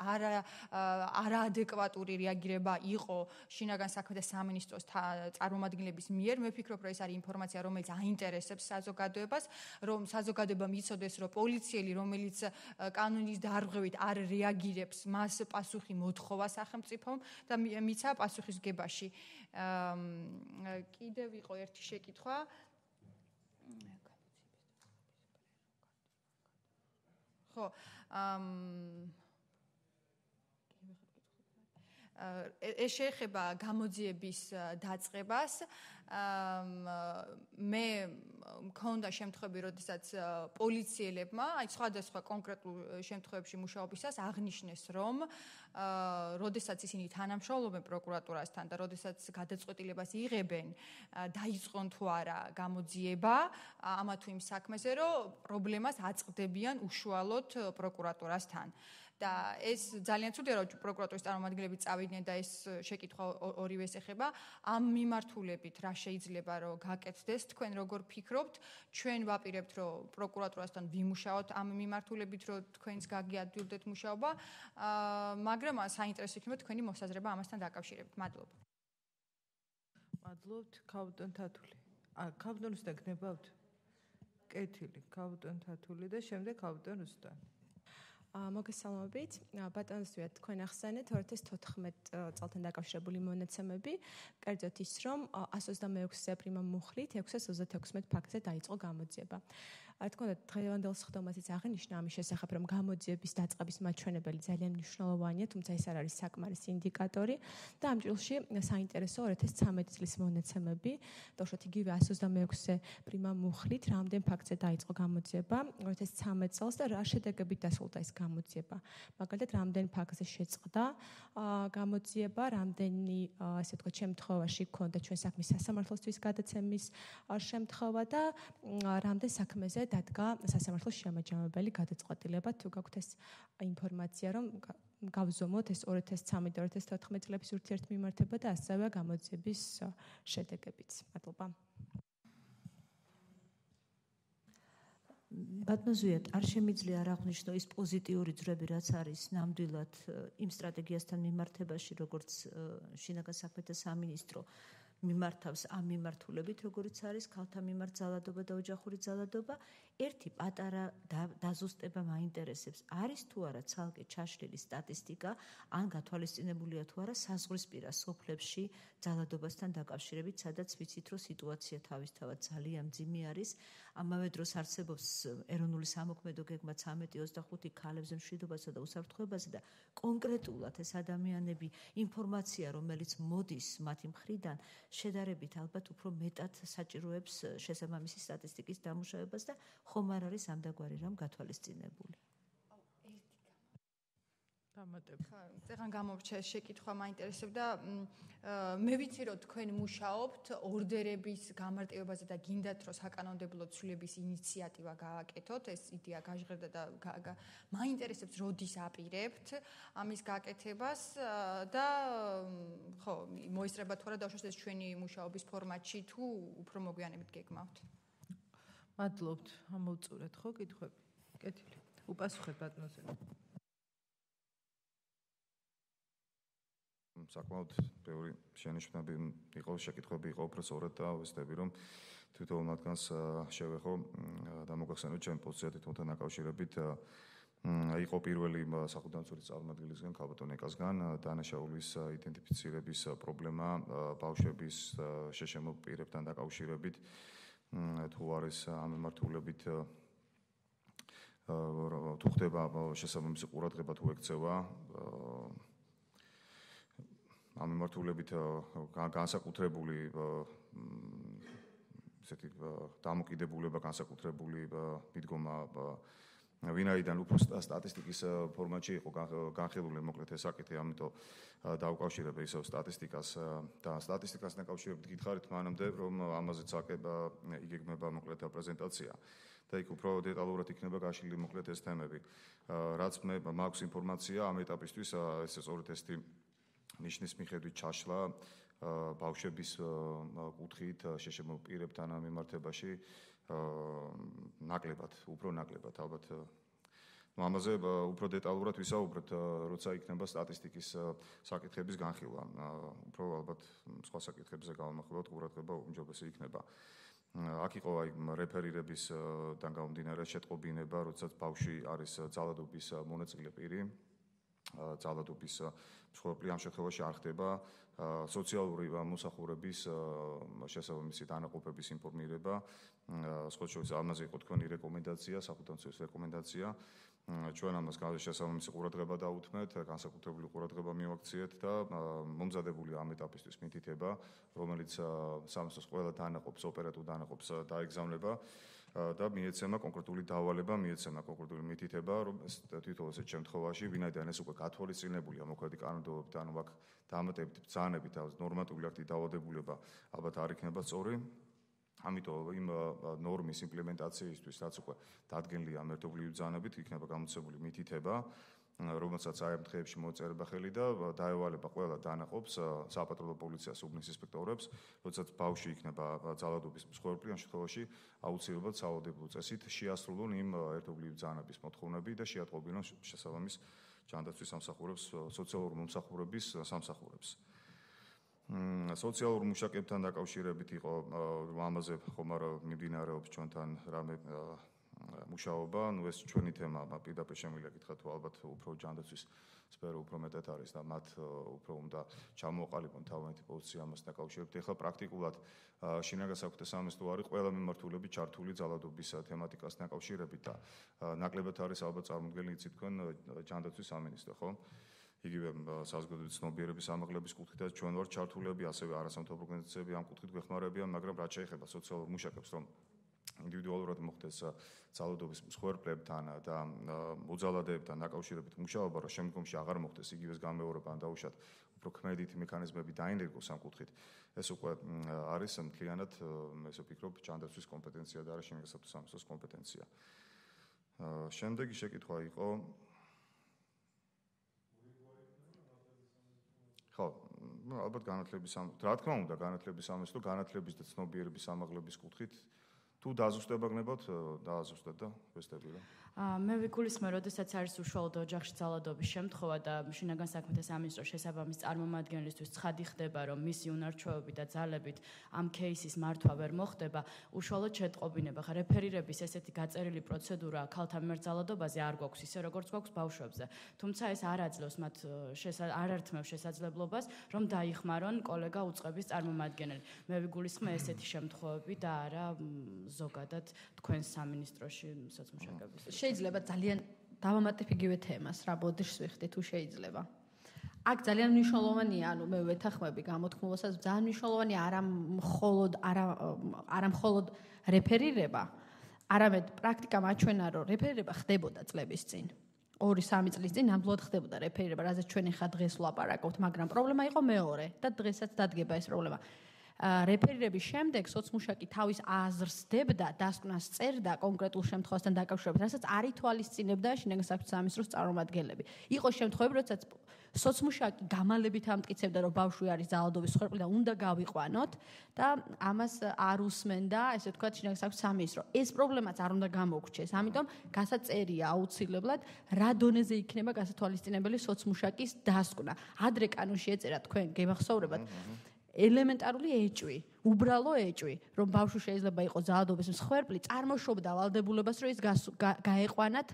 არაადეკვატური რეაგირება იყო შინაგან საქმეთა სამინისტროს წარმომადგენლების მიერ. მე ვფიქრობ, რომ ეს არის ინფორმაცია, რომელიც აინტერესებს საზოგადოებას, რომ საზოგადოებამ იცოდეს, რომ პოლიციელი, რომელიც კანონის დარღვევით არ რეაგირებს, მას პასუხი მოთხოვა სახელმწიფომ და მიცა პასუხისგებაში. კიდევ იყო ერთი შეკითხვა. ხო, ეს შეეხება გამოძიების დაწყებას. მე მქონდა შემთხვევები, როდესაც პოლიციელებმა, აი სხვადასხვა კონკრეტულ შემთხვევებში მუშაობისას აღნიშნეს, რომ როდესაც ისინი თანამშრომლობენ პროკურატურასთან და როდესაც გადაწყვეტილებას იღებენ, დაიწყონ თუ არა გამოძიება ამა თუ იმ საქმეზე, რომ პრობლემას აწყდებიან უშუალოდ პროკურატურასთან. და ეს ძალიან ცუდია, რომ პროკურატურის წარმომადგენლები წავიდნენ და ეს შეკითხვა ორივეს ეხება. ამ მიმართულებით რა შეიძლება რომ გაკეთდეს, თქვენ როგორ ფიქრობთ? ჩვენ ვაპირებთ, რომ პროკურატურასთან ვიმუშაოთ ამ მიმართულებით, რომ თქვენს გაგიადვილდეთ მუშაობა, მაგრამ საინტერესო იქნება თქვენი მოსაზრება ამასთან დაკავშირებით. მადლობა. მადლობთ, ქაუტონ თათული. ქაუტონ რუსტან გნებავთ? კეთილი, ქაუტონ თათული და შემდეგ ქაუტონ რუსტან. მოგესალმებით. ბატონო ზვიად, თქვენ ახსენეთ 2014 წელთან დაკავშირებული მონაცემები, კერძოდ ის, რომ 126 პრიმა მუხლით 636 ფაქტზე დაიწყო გამოძიება. თქო, დღევანდელ სხდომაზეც აღნიშნა ამის შესახებ, რომ გამოძიების დაწყების მაჩვენებელი ძალიან მნიშვნელოვანია, თუმცა ეს არ არის საკმარის ინდიკატორი და ამ ჭრილში საინტერესო 2013 წლის მონაცემები, თორსად იგივე 126 პრიმა მუხლით რამდენ ფაქტზე დაიწყო გამოძიება 2013 წელს და რა შედეგებით დასრულდა ეს გამოძიება. მაგალითად, რამდენ ფაქტზე შეწყდა გამოძიება, რამდენი, ასე ვთქვათ, შემთხვევაში ჰქონდა ჩვენ საქმის სასამართლოსთვის გადაცემის შემთხვევა და რამდენ საქმეზე დადგა სასამართლოს შემაჯამებელი გადაწყვეტილება. თუ გაქვთ ეს ინფორმაცია, რომ გავზომოთ ეს 2013 და 2014 წლების ურთიერთმიმართება და ასევე გამოძიების შედეგებიც. მადლობა. ბატონო ზვიად, არ შემიძლია არ აღვნიშნო ის პოზიტიური ძრები, რაც არის ნამდვილად იმ სტრატეგიასთან მიმართებაში, როგორც შინაგან საქმეთა სამინისტრო მიმართავს ამ მიმართულებით, როგორიც არის ქალთა მიმართ ძალადობა და ოჯახური ძალადობა. ერთი პატარა დაზუსტება მაინტერესებს, არის თუ არა ცალკე ჩაშლილი სტატისტიკა, ან გათვალისწინებულია თუ არა საზღვრისპირა სოფლებში ძალადობასთან დაკავშირებით, სადაც ვიცით, რომ სიტუაცია თავისთავად ძალიან მძიმე არის. ამავე დროს არსებობს ეროვნული სამოქმედო გეგმა 13-25 ქალებზე მშვიდობასა და უსაფრთხოებაზე და კონკრეტულად ეს ადამიანები ინფორმაცია, რომელიც მოდის მათი მხრიდან, შედარებით ალბათ უფრო მეტად საჭიროებს შესაბამისი სტატისტიკის დამუშავებას და ხომ არ არის ამდაგვარი რამ გათვალისწინებული. წეგან გამორჩა ეს შეკითხვა მაინტერესებდა. მე ვიცი რომ თქვენ მუშაობთ ორდერების გამარტივებაზე და გინდათ რომ საკანონმდებლო ცვლილების ინიციატივა გააკეთოთ. ეს იდეა გაჟღერდა და მაინტერესებს როდის აპირებთ ამის გაკეთებას და ხო მოისწრება თუ არა დავუშვათ ეს ჩვენი მუშაობის ფორმატში თუ უფრო მოგვიანებით გეგმავთ. მადლობთ. ამოვწურეთ ხო კითხვები? კეთილი. უპასუხეთ ბატონზე. საკმაოდ ბევრი შენიშვნები იყო, შეკითხვები იყო უფრო სწორად და ვეცდები რომ თვითონ მათგანს შევეხო და მოგახსენოთ ჩემი პოზიცია თვითონთან დაკავშირებით. იყო პირველი სახელმწიფო წარმომადგენლისგან, ქალბატონ ეკასგან დანაშაულის იდენტიფიცირების პრობლემა ბავშვების შეშემო პირებთან დაკავშირებით. თუ არის ამ მიმართულებით თუ ხდება შესაბამისი ყურადღება თუ ექცევა ამ მიმართულებით განსაკუთრებული ესეთი დამოკიდებულება განსაკუთრებული მიდგომა ვინაიდან უფრო სტატისტიკის ფორმატში იყო განხილული მოკლედ ეს საკითხი, ამიტომ დავუკავშირებ ისევ სტატისტიკას და სტატისტიკასთან დაკავშირებით გითხარით მანამდე რომ ამაზეც იგეგმება მოკლედ პრეზენტაცია და იქ უფრო დეტალურად იქნება გაშლილი მოკლედ ეს თემები. რაც მე მაქვს ინფორმაცია ამ ეტაპისთვის ესე სწორედ ესეთი ნიშნის მიხედვით ჩაშლა ბავშვების კუთხით შეშემო პირებთან ამ მიმართებაში ნაკლებად, უფრო ნაკლებად ალბათ. ამაზე უფრო დეტალურად ვისაუბრებთ, როცა იქნება სტატისტიკის საკითხების განხილვა. უფრო ალბათ სხვა საკითხებზე გავამახვილოთ, ყურადღება უმჯობესი იქნება. აქ იყო აი რეფერირებისგან გამომდინარე შეტყობინება, როდესაც ბავშვი არის ძალადობის მონაწილე პირი. ძალადობის მსხვერპლი ამ შემთხვევაში არ ხდება სოციალური მომსახურების შესაბამისი დანაყოფების ინფორმირება. სხვა შორის ამაზე იყო თქვენი რეკომენდაცია, სახელმწიფოს რეკომენდაცია. ჩვენ ამას შესაბამისი ყურადღება დაუთმეთ, განსაკუთრებული ყურადღება მივაქციეთ და მომზადებული ამ ეტაპისთვის მითითება, რომელიც სამსოს ყველა დანაყოფს, ოპერატიულ დანაყოფს დაეგზავნება. და მიეცემა კონკრეტული დავალება, მიეცემა კონკრეტული მითითება, რომ თვითონ ესეთ შემთხვევაში, ვინაიდან ეს უკვე გათვალისწინებულია მოქმედი კანონმდებლობით, ანუ აქ დამატებით ბრძანებით და ნორმატიული აქტი დავალდებულება ალბათ არ იქნება სწორი. ამიტომ იმ ნორმის იმპლემენტაციისთვის, რაც უკვე დადგენილია მეთოდოლოგიური ბრძანებით, იქნება გამოცემული მითითება, რომელსაც აი ამ დღეებში მოწერება ხელი და დაევალება ყველა დანაყოფს, საპატრულო პოლიციას, უბნის ინსპექტორებს, როდესაც ბავშვი იქნება ძალადობის მსხვერპლი, ამ შემთხვევაში აუცილებლად სავალდებულო წესით შეასრულონ იმ ერთობლივი ბრძანების მოთხოვნები და შეატყობინონ შესაბამის ჯანდაცვის სამსახურებს, სოციალურ მომსახურების სამსახურებს. სოციალურ მუშაკებთან დაკავშირებით იყო ამაზე ხომ არა მიმდინარეობს ჩვენთან რამე მუშაობა, ეს ჩვენი თემა, პირდაპირ შემიძლია გითხრათ, თუ ალბათ უფრო ჯანდაცვის სფერო უფრო მეტად არის და მათ უფრო უნდა ჩამოყალიბონ თავიანთი პოზიცია ამასთან დაკავშირებით. ეხლა პრაქტიკულად შინაგან საქმეთა სამინისტრო არის ყველა მიმართულებით ჩართული ძალადობის თემატიკასთან დაკავშირებით და ნაკლებად არის ალბათ წარმოდგენილი იცით თქვენ ჯანდაცვის სამინისტრო, ხო? იგივე საზოგადოების ცნობიერების ამაღლების კუთხითაც ჩვენ ვართ ჩართულები, ასევე არასამთავრობო ორგანიზაციები ამ კუთხით გვეხმარებიან, მაგრამ რაც შეეხება სოციალურ მუშაკებს, რომ ინდივიდუალურად მოხდეს ძალადობის მსხვერპლებთან და მოძალადეებთან დაკავშირებით მუშაობა, რომ შემდგომში აღარ მოხდეს იგივეს გამეორება, ან დაუშვათ უფრო ქმედითი მექანიზმები დაინერგოს ამ კუთხით. ეს უკვე არის მთლიანად, ესე ვფიქრობ, ჯანდაცვის კომპეტენცია და არა შინაგან საქმეთა სამინისტროს კომპეტენცია. შემდეგი შეკითხვა იყო ხო, ალბათ განათლების რა თქმა უნდა, განათლების სამინისტრო, განათლების და ცნობიერების ამაღლების კუთხით თუ დაზუსტება გნებავთ, დააზუსტეთ და ვესტები რა. მე ვიგულისხმე, როდესაც არის უშუალოდ ოჯახში ძალადობის შემთხვევა და შინაგან საქმეთა სამინისტროს შესაბამის წარმომადგენლისთვის ცხადი ხდება, რომ მისი უნარჩვევებით და ძალებით ამ кейსის მართვა ვერ მოხდება, უშუალოდ შეტყობინება. ხა რეფერირების ესეთი გაწერილი პროცედურა ქალთა მიმართ ძალადობაზე არ გვაქვს ისე როგორც გვაქვს ბავშვებზე. თუმცა ეს არ აძლევს მათ არ ართმევს შესაძლებლობას, რომ დაიხმარონ კოლეგა უწყების წარმომადგენელი. მე ვიგულისხმე ესეთი შემთხვევები და არა ზოგადად თქვენ სამინისტროში სოციმუშაკების. შეიძლება ძალიან დავამატებ იგივე თემას რა ბოდიშს ვიხდი თუ შეიძლება. აქ ძალიან მნიშვნელოვანია, მე ვეთანხმები გამოთქმულასაც, ძალიან მნიშვნელოვანია არა მხოლოდ რეფერირება, არამედ პრაქტიკა მაჩვენა, რომ რეფერირება ხდებოდა წლების წინ. 2-3 წლის წინ ნამდვილად ხდებოდა რეფერირება, რაზეც ჩვენი ხა დღეს ვლაპარაკობთ, მაგრამ პრობლემა იყო მეორე და დღესაც დადგება ეს პრობლემა. რეფერირების შემდეგ სოციმუშაკი თავის აზრს დებდა, დასკვნას წერდა კონკრეტულ შემთხვევასთან დაკავშირებით, რასაც არ ითვალისწინებდა შინაგან საქმეთა სამინისტროს წარმომადგენლები. იყო შემთხვევები, როდესაც სოციმუშაკი გამალებით ამტკიცებდა, რომ ბავშვი არის ძალადობის მსხვერპლი და უნდა გავიყვანოთ და ამას არ უსმენდა, ესე ვთქვათ, შინაგან საქმეთა სამინისტრო. ეს პრობლემაც არ უნდა გამოგრჩეს, ამიტომ გასაწერია აუცილებლად, რა დონეზე იქნება გასათვალისწინებელი სოციმუშაკის დასკვნა. ადრე კანონში ეწერა თქვენ გემახსოვრებათ ელემენტარული ეჭვი, უბრალო ეჭვი, რომ ბავშვი შეიძლება იყოს ძალადობის მსხვერპლი, წარმოშობდა ვალდებულებას, რომ ის გაეყვანათ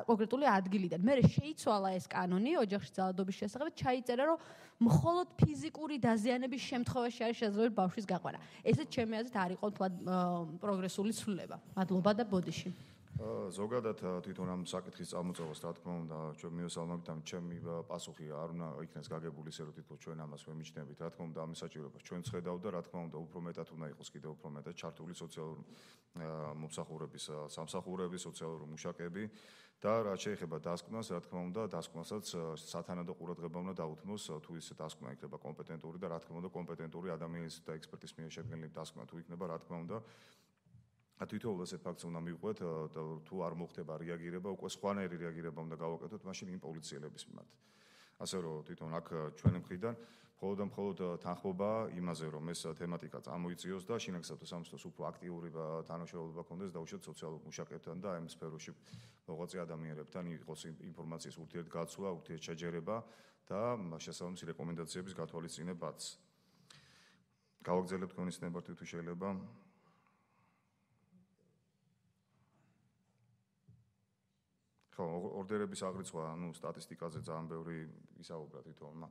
კონკრეტული ადგილიდან. მე შეიცვალა ეს კანონი ოჯახში ძალადობის შესახებ, ჩაიწერა, რომ მხოლოდ ფიზიკური დაზიანების შემთხვევაში არის შესაძლებელი ბავშვის გაყვანა. ესეც ჩემი აზრით არ იყო თლად პროგრესული ცვლილება. მადლობა და ბოდიში. ზოგადად თვითონ ამ საკითხის წარმოწევას რა თქმა უნდა ჩვენ მივესალმებით და ჩემი პასუხი არ უნდა იქნეს გაგებული ისე რომ თითქოს ჩვენ ამას ვემიჩნევით რა თქმა უნდა ამის საჭიროებას ჩვენ ხედავ და რა თქმა უნდა უფრო მეტად უნდა იყოს კიდევ უფრო მეტად ჩართული სოციალური მომსახურების სამსახურების სოციალური მუშაკები და რაც შეეხება დასკვნას რა თქმა უნდა დასკვნასაც სათანადო ყურადღება უნდა დაუთმოს თუ ის დასკვნა იქნება კომპეტენტური და რა თქმა უნდა კომპეტენტური ადამიანის და ექსპერტის მიერ შედგენილი დასკვნა თუ იქნება რა თქმა უნდა თვითონ ეს ფაქტს უნდა მივყვეთ თუ არ მოხდება რეაგირება, უკვე სხვანაირი რეაგირება უნდა გავაკეთოთ მაშინ იმ პოლიციელების მიმართ. ასე რომ თვითონ აქ ჩვენი მხრიდან მხოლოდ თანხმობა იმაზე რომ ეს თემატიკა წამოიწიოს და შინაგან საქმეთა სამინისტროს უფრო აქტიური თანამშრომლობა ქონდეს დაუშვათ სოციალურ მუშაკებთან და ამ სფეროში მოღვაწე ადამიანებთან იყოს ინფორმაციის ურთიერთგაცვლა, ურთიერთშეჯერება და შესაბამისი რეკომენდაციების გათვალისწინებაც. გავაგრძელებთ თქვენი სტენდარტი თუ შეიძლება. ორდერების აღრიცხვა, სტატისტიკაზე ძალიან ბევრი ისაუბრა თვითონმა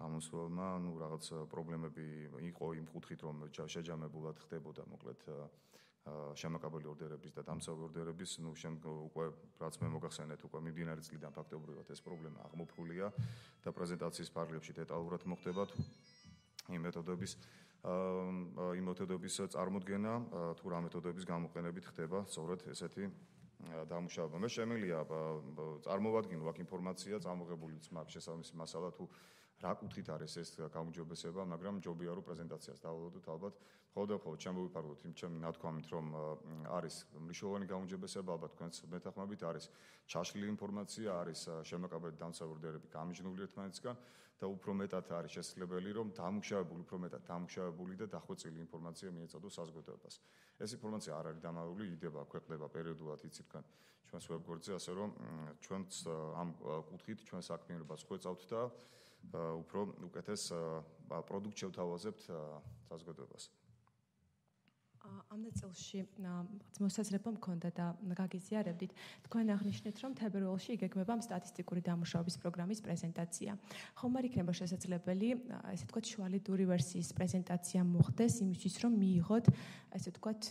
გამოსვლელმა, რაღაც პრობლემები იყო იმ კუთხით, რომ შეჯამებულად ხდებოდა, მოკლედ შემაკაბელი ორდერების და დამცავი ორდერების, უკვე რაც მე მოგახსენეთ, უკვე მიმდინარე წლიდან ფაქტობრივად ეს პრობლემა აღმოფხულია და პრეზენტაციის ფარგლებში დეტალურად მოხდება იმ მეთოდების წარმოდგენა, თუ რა მეთოდების გამოყენებით ხდება სწორედ ესეთი დამუშავება. მე შემიძლია წარმოვადგინო აქ ინფორმაცია წამოღებულიც მაქვს შესაბამისი მასალა თუ რა კუთხით არის ეს გაუმჯობესება, მაგრამ ჯობია რომ პრეზენტაციას დავალოდოთ ალბათ. მხოლოდ ჩემ მოვიფარგლოთ იმ ჩემი ნათქვამით რომ არის მნიშვნელოვანი გაუმჯობესება, ალბათ თქვენც მეთანხმებით არის ჩაშლილი ინფორმაცია, არის შემაკაბელი დამცავი ორდერები გამიჯნული ერთმანეთისგან და უფრო მეტად არის შესაძლებელი რომ დამუშავებული და დახვეწილი ინფორმაცია მიეწოდოს საზოგადოებას. ეს ინფორმაცია არ არის დამალული, იდება, ქვეყნდება პერიოდულად იცით თქვენ ჩვენს ვებგვერდზე, ასე რომ ჩვენც ამ კუთხით ჩვენ საქმიანობას ხვეწავთ და უფრო უკეთეს პროდუქტ შევთავაზებთ საზოგადოებას. ამ ნაწილში მოსაზრება მქონდა და გაგიზიარებდით. თქვენ აღნიშნეთ, რომ თებერვალში იგეგმება სტატისტიკური დამუშავების პროგრამის პრეზენტაცია. ხომ არ იქნება შესაძლებელი, ესე ვთქვათ, შუალედური ვერსიის პრეზენტაცია მოხდეს იმისთვის, რომ მიიღოთ, ესე ვთქვათ,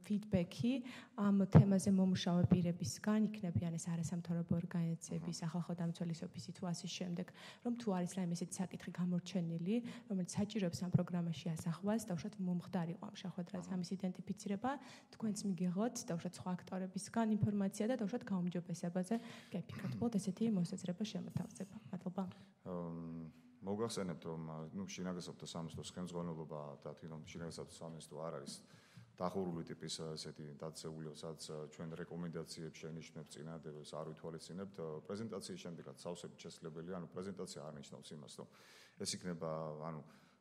ფიდბექი ამ თემაზე მომუშავე პირებისგან, იქნებიან ეს არასამთავრობო ორგანიზაციები, სახალხო დამცველის ოფისი თუ ასე შემდეგ, რომ თუ არის რაიმე ესეთი საკითხი გამორჩენილი, რომელიც საჭიროებს ამ პროგრამაში ასახვას, დავუშვათ მომხდარიყო ამ შეხვედრაზე ამის იდენტიფიცირება, თქვენც მიგიღოთ დავუშვათ სხვა აქტორებისგან ინფორმაცია და დავუშვათ გაუმჯობესებაზე გეფიქროთ. უბრალოდ ესეთი მოსაზრება შემოთავაზება. მადლობა. მოგახსენებთ რომ შინაგან საქმეთა სამინისტროს ხელმძღვანელობა და თვითონ შინაგან საქმეთა სამინისტრო არ არის დახურული ტიპის ესეთი დაწესებული, სადაც ჩვენ რეკომენდაციებს შენიშნებთ წინადადებას არ ვითვალისწინებთ. პრეზენტაციის შემდეგაც სავსებით შესაძლებელია, პრეზენტაცია არ ნიშნავს იმას, რომ ეს იქნება,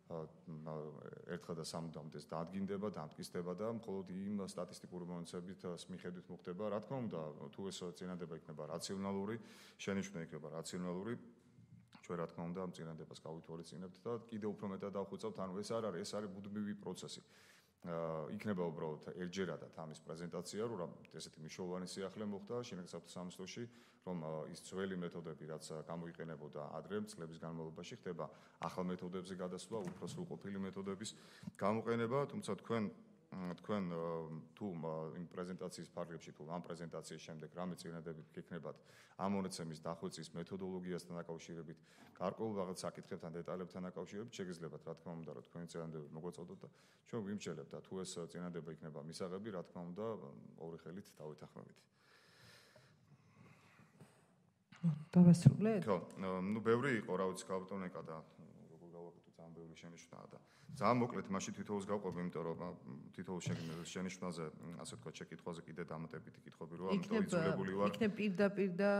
ერთხელ და სამუდამოდ ეს დაადგინდება, დამტკიცდება და მხოლოდ იმ სტატისტიკური მონაცემებით მიხედვით მოხდება. Რა თქმა უნდა, თუ ეს წინადადება იქნება რაციონალური, შენიშვნა იქნება რაციონალური, ჩვენ რა თქმა უნდა ამ წინადადებას გავითვალისწინებთ და კიდევ უფრო მეტად დავხვეწავთ, ანუ ეს არ არის, ეს არის ბუდმივი პროცესი. იქნება უბრალოდ ერთჯერადად ამის პრეზენტაცია, რომ ესეთი მნიშვნელოვანი სიახლე მოხდა შინაგან საქმეთა სამინისტროში, რომ ის ძველი მეთოდები, რაც გამოიყენებოდა ადრე წლების განმავლობაში, ხდება ახალ მეთოდებზე გადასვლა, უფრო სრულყოფილი მეთოდების გამოყენება, თუმცა თქვენ თუ იმ პრეზენტაციის ფარგლებში თუ ამ პრეზენტაციის შემდეგ რამე წინადადებით გექნებათ ამ მონაცემის დახვეწის მეთოდოლოგიასთან დაკავშირებით, გარკვეულ რაღაც საკითხებთან, დეტალებთან დაკავშირებით, შეგიძლიათ რა თქმა უნდა, რომ თქვენი წინადადები მოგვაწოდოთ და ჩვენ ვიმსჯელებთ და თუ ეს წინადადება იქნება მისაღები, რა თქმა უნდა, ორი ხელით დავითანხმებით. დავასრულეთ? ხო, ბევრი იყო, რა ვიცი, გაბატონეკა და როგორ გავაკეთოთ ძალიან ბევრი შენიშვნაა და ძალიან მოკლედ მაშინ თითოეულს გავყვები, იმიტომ რომ თითოეულ შენიშვნაზე, ასე ვთქვათ, შეკითხვაზე კიდე დამატებითი კითხვები როა, ამიტომ იძულებული ვარ. იქნებ პირდაპირ და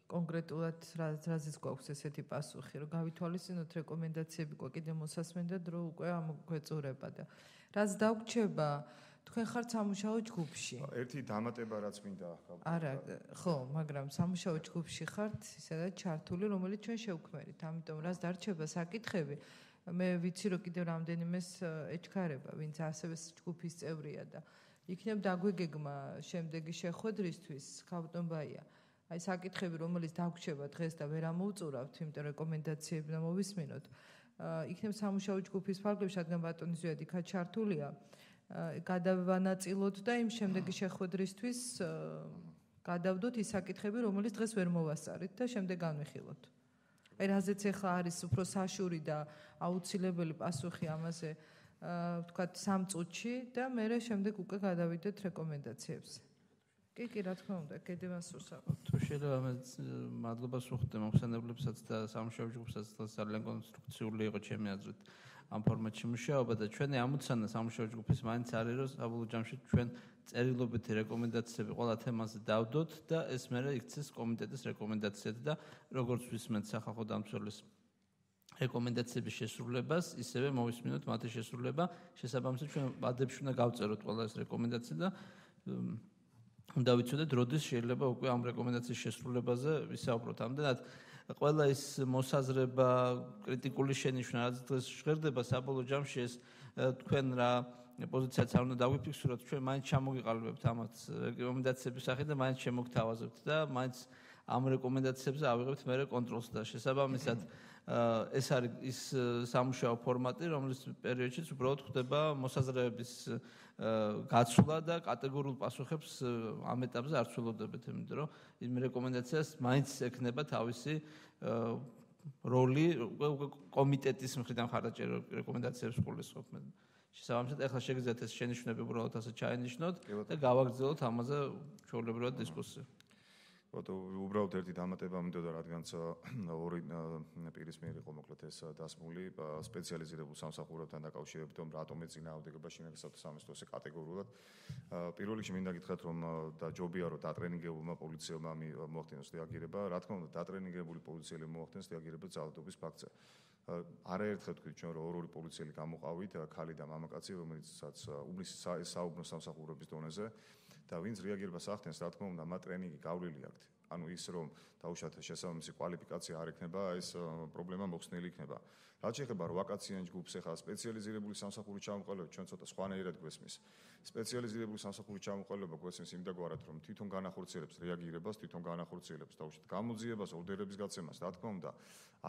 კონკრეტულად რაზეც გვაქვს ესეთი პასუხი, რომ გავითვალისწინოთ რეკომენდაციები, კიდე მოსასმენდა დრო უკვე ამგვეწურება და რაც დაგვრჩება თქვენ ხართ სამუშაო ჯგუფში. ერთი დამატება რაც მინდა არა, ხო, მაგრამ სამუშაო ჯგუფში ხართ, ისედაც ჩართული, რომელიც ჩვენ შევქმერით. ამიტომ რაც დარჩება საკითხები, მე ვიცი რომ კიდევ რამდენიმეს ეჩქარება, ვინც ასევე ჯგუფის წევრია და იქნებ დაგვიგეგმა შემდეგი შეხვედრისთვის, ქავტონ ბაია. აი საკითხები, რომელიც დაგვრჩება დღეს და ვერ ამოუწურავთ, იმიტომ რეკომენდაციები და მოვისმინოთ. იქნებ სამუშაო ჯგუფის ფარგლებში, რადგან ბატონი ზვიად იქა ჩართულია. გადავანაწილოთ და იმ შემდეგი შეხვედრისთვის გადავდოთ ის საკითხები, რომელიც დღეს ვერ მოვასწარით და შემდეგ განვიხილოთ. აი რაზეც ახლა არის უფრო საშური და აუცილებელი პასუხი ამაზე, ვთქვათ, 3 წუთში და მე შემდეგ უკვე გადავიდეთ რეკომენდაციებზე. კი, რა თქმა უნდა, კიდევაც უსაუბროთ. თუ შეიძლება მე მადლობას ვუხდე მომხსენებლებსაც და სამუშაო ჯგუფსაც ძალიან კონსტრუქციული იყო ჩემი აზრით. ამ ფორმატში მუშაობა და ჩვენი ამოცანა სამუშაო ჯგუფის მაინც არის, რომ საბოლოო ჯამში ჩვენ წერილობითი რეკომენდაციები ყველა თემაზე დავდოთ და ეს მერე იქცეს კომიტეტის რეკომენდაციად და როგორც ვისმენთ სახალხო დამცველის რეკომენდაციების შესრულებას, ისევე მოვისმინოთ მათი შესრულება, შესაბამისად ჩვენ ვადებში უნდა გავწეროთ ყველა ეს რეკომენდაცია და უნდა ვიცოდეთ, როდის შეიძლება უკვე ამ რეკომენდაციის შესრულებაზე ვისაუბროთ. ამდენად ყველა ის მოსაზრება, კრიტიკული შენიშვნა, რაც დღეს ჟღერდება საბოლოო ჯამში ეს თქვენ რა პოზიციაც არ უნდა დაგვიფიქსიროთ, ჩვენ მაინც ჩამოგიყალიბებთ ამათ რეკომენდაციების სახით და მაინც შემოგთავაზებთ და მაინც ამ რეკომენდაციებზე ავიღებთ მერე კონტროლს და შესაბამისად ეს არის ის სამუშაო ფორმატი, რომლის პერიოდშიც უბრალოდ ხდება მოსაზრებების გაცვლა და კატეგორიულ პასუხებს ამ ეტაპზე არ ცდილობდებით, იმიტომ რომ იმ რეკომენდაციას მაინც ექნება თავისი როლი კომიტეტის მხრიდან ხარდაჭერა რეკომენდაციებს გულისხმობ. შესაბამისად, ახლა შეგიძლიათ ეს შენიშვნები უბრალოდ ასე ჩაენიშნოთ და გავაგრძელოთ ამაზე ჩვეულებრივად დისკუსია. უბრალოდ ერთი დამატება მინდოდა, რადგანაც ორი პირის მიერ იყო მოკლედ ეს დასმული სპეციალიზირებულ სამსახურებთან დაკავშირებით, რომ რატომ ეწინააღმდეგება შინაგან საქმეთა სამინისტროს კატეგორიულად. პირველ რიგში მინდა გითხრათ, რომ და ჯობია რომ დატრენინგებულმა პოლიციელმა მოახდინოს რეაგირება. რა თქმა უნდა, დატრენინგებული პოლიციელი მოახდინოს რეაგირება ძალადობის ფაქტზე. არაერთხელ თქვით ჩვენ რომ ორი პოლიციელი გამოყავით, ქალი და მამაკაცი, რომელიცაც უბნის საუბნო სამსახურების დონეზე და ვინც რეაგირებას ახდენს, რა თქმა უნდა, მათ ტრენინგი გავლილი აქვთ. ანუ ის რომ დაუშვათ შესაბამისი კვალიფიკაცია არ ექნება, ეს პრობლემა მოხსნილი იქნება. რაც შეეხება ვაკაციან ჯგუფს, ახლა სპეციალიზირებული სამსახური ჩამოყალიბება ჩვენ ცოტა სხვანაირად გვესმის. სპეციალიზირებული სამსახური ჩამოყალიბება გვესმის იმდაგვარად, რომ თვითონ განახორციელებს რეაგირებას, თვითონ განახორციელებს დაუშვათ გამოძიებას, ორდერების გაცემას, რა თქმა უნდა,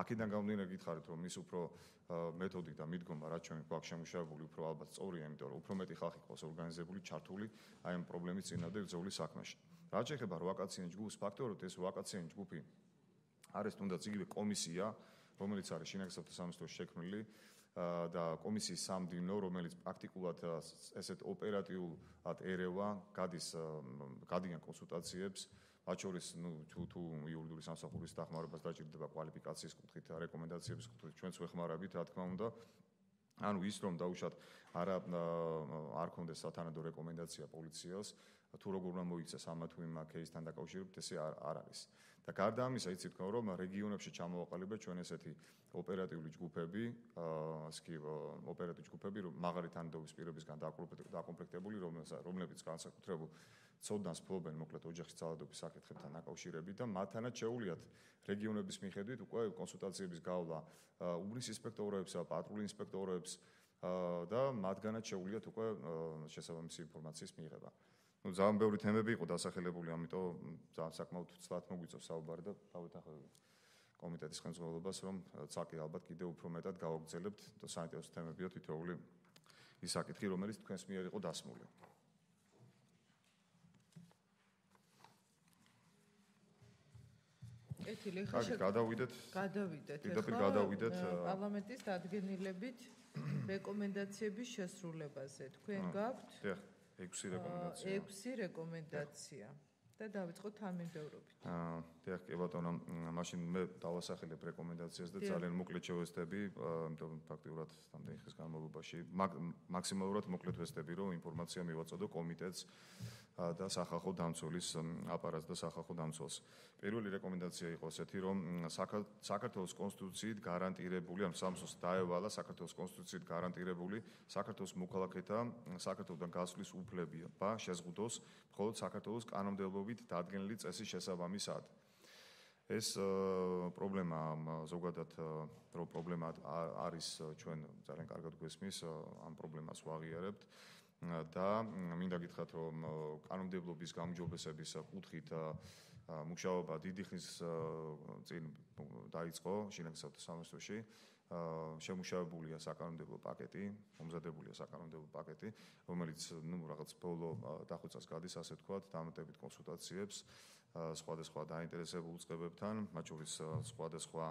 აქედან გამომდინარე გითხარით, რომ ის უფრო მეთოდი და მიდგომა, რაც ჩვენ გვაქვს შემუშავებული, უფრო ალბათ სწორია, იმიტომ რომ უფრო მეტი ხალხი ყავს ორგანიზებული, ჩართული აი ამ პრობლემის წინააღმდეგ ბრძოლის საქმეში. რაც შეეხება ვაკაციან ჯგუფს, ფაქტობრივად ეს ვაკაციან ჯგუფი არის თუნდაც იგივე კომისია, რომელიც არის შინაგან საქმეთა სამინისტროს შექმნილი და კომისიის სამდივნო, რომელიც პრაქტიკულად ესეთ ოპერატიულად ერევა, გადიან კონსულტაციებს, მათ შორის თუ იურიდიული სამსახურის დახმარებას დაჭირდება კვალიფიკაციის კუთხით, რეკომენდაციების კუთხით, ჩვენც ვეხმარებით, რა თქმა უნდა. ანუ ის რომ დაუშვათ არ ქონდეს სათანადო რეკომენდაცია პოლიციას, თუ როგორ უნდა მოიქცეს ამა თუ იმ кейსთან დაკავშირებით, ესე არ არის. და გარდა ამისა იცით თქვენ რომ რეგიონებში ჩამოვაყალიბეთ ჩვენ ესეთი ოპერატიული ჯგუფები, ოპერატიული ჯგუფები, მაღალი თანამდებობის პირებისგან დაკომპლექტებული, რომლებიც განსაკუთრებულ ცოდნას ფლობენ მოკლედ ოჯახის ძალადობის საკითხებთან დაკავშირებით და მათთანაც შეუძლიათ რეგიონების მიხედვით უკვე კონსულტაციების გავლა უბნის ინსპექტორებსა, პატრულის ინსპექტორებს და მათგანაც შეუძლიათ უკვე შესაბამისი ინფორმაციის მიღება. ძალიან ბევრი თემები იყო დასახელებული, ამიტომ ძალიან საკმაოდ ცუდად მოგვიწევს საუბარი და დავეთანხმებით კომიტეტის ხელმძღვანელობას, რომ ცალკე ალბათ კიდევ უფრო მეტად გავაგრძელებთ და საინტერესო თემებია თითოეული ის საკითხი, რომელიც თქვენს მიერ იყო დასმული. გადავიდეთ პარლამენტის დადგენილებით რეკომენდაციების შესრულებაზე. თქვენ გაქვთ 6 რეკომენდაცია და დავიწყოთ თანმიმდევრობით. დიახ, კი ბატონო, მაშინ მე დავასახელებ რეკომენდაციას და ძალიან მოკლედ შევესწრები, იმიტომ ფაქტიურად რამდენი ხნის განმავლობაში მაქსიმალურად მოკლედ ვესწრები, რომ ინფორმაცია მივაწოდო კომიტეტს და სახალხო დამცველის აპარატს და სახალხო დამცველს. პირველი რეკომენდაცია იყო ესეთი, რომ საქართველოს კონსტიტუციით გარანტირებული, ან სამსოს დაევალა საქართველოს კონსტიტუციით გარანტირებული საქართველოს მოქალაქეთა საქართველოსთან გასვლის უფლება შეზღუდოს მხოლოდ საქართველოს კანონმდებლობით დადგენილი წესის შესაბამისად. ეს პრობლემა ზოგადად რო პრობლემა არის ჩვენ ძალიან კარგად გვესმის ამ პრობლემას ვაღიარებთ და მინდა გითხრათ რომ კანონმდებლობის გაუმჯობესების კუთხით მუშაობა დიდი ხნის წინ დაიწყო შინაგანსაკუთრებათა სამინისტროში. შემუშავებულია საკანონმდებლო პაკეტი, მომზადებულია საკანონმდებლო პაკეტი, რომელიც რაღაც ბოლო დახვეწას გადის, ასე ვთქვათ, დამატებით კონსულტაციებს სხვადასხვა დაინტერესებულ უწყებებთან, მათ შორის სხვადასხვა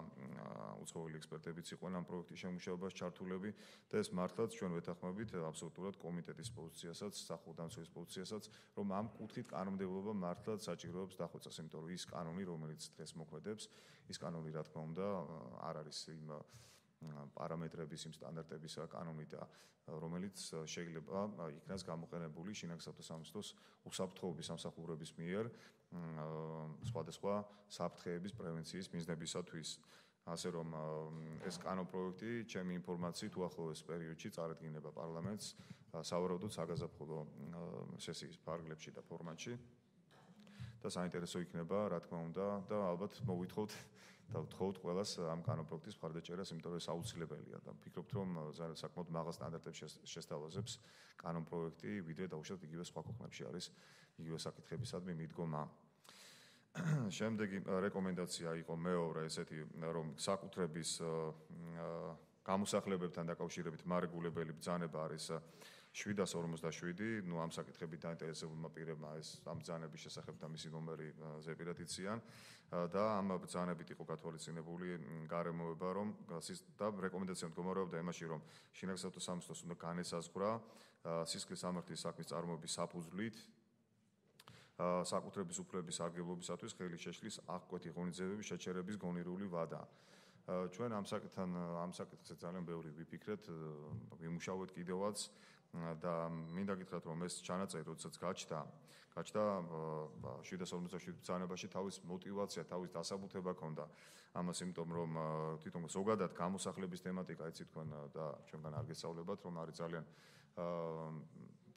უცხოელი ექსპერტებიც იყვნენ ამ პროექტის შემუშავებას ჩართულები და ეს მართლაც ჩვენ ვეთანხმებით აბსოლუტურად კომიტეტის პოზიციასაც, სახალხო დამცველის პოზიციასაც, რომ ამ კუთხით კანონმდებლობა მართლაც საჭიროებს დახვეწას, იმიტომ რომ ის კანონი, რომელიც დღეს მოქმედებს, ის კანონი რა თქმა უნდა არ არის იმ პარამეტრების, იმ სტანდარტების კანონი და რომელიც შეიძლება იქნას გამოყენებული შინაგანსაკუთრებათა სამინისტროს უსაფრთხოების სამსახურების მიერ სხვადასხვა საფრთხეების პრევენციის მიზნებისათვის. ასე რომ ეს კანონპროექტი, ჩემი ინფორმაციით, უახლოეს პერიოდში წარადგინება პარლამენტს სავარაუდოდ საგაზაფხულო სესიის ფარგლებში და ფორმატში. და საინტერესო იქნება, რა თქმა უნდა, და ალბათ მოვითხოვთ და ვთხოვთ ყველას ამ კანონპროექტის მხარდაჭერას, იმიტომ რომ ეს აუცილებელია და ვფიქრობთ, რომ საკმაოდ მაღალ სტანდარტებს შესთავაზებს კანონპროექტი, ვიდრე დაუშვათ იგივე სხვა ქვეყნებში არის იგივე საკითხებისადმი მიდგომა. შემდეგი რეკომენდაცია იყო მეორე ესეთი, რომ საკუთრების გამოსახლებებთან დაკავშირებით მარეგულებელი ბრძანება არის 747, ამ საკითხებით დაინტერესებულმა პირებმა ეს ამ ბრძანების შესახებ და მისი ნომერი ზეპირად იციან და ამ ბრძანებით იყო გათვალისწინებული გარემოება, რომ და რეკომენდაცია მდგომარეობდა იმაში, რომ შინაგანსაკუთრებათა სამინისტროს უნდა განესაზღვრა სისხლის სამართლის საქმის წარმოების საფუძვლით საკუთრების უფლების სარგებლობისათვის ხელი შეშლის აღკვეთი ღონისძიებების შეჩერების გონირული ვადა. ჩვენ ამ საკითხზე ძალიან ბევრი ვიფიქრეთ, ვიმუშავეთ კიდევაც და მინდა გითხრათ, რომ ეს ჩანაწერი, როდესაც გაჩნდა 747 ბრძანებაში თავის мотиваცია, თავის დასაბუთება ჰქონდა ამას, იმიტომ რომ თვითონ ზოგადად გამოსახლების თემატიკა იცით თქვენ და ჩვენგან არ გესწავლებათ, რომ არის ძალიან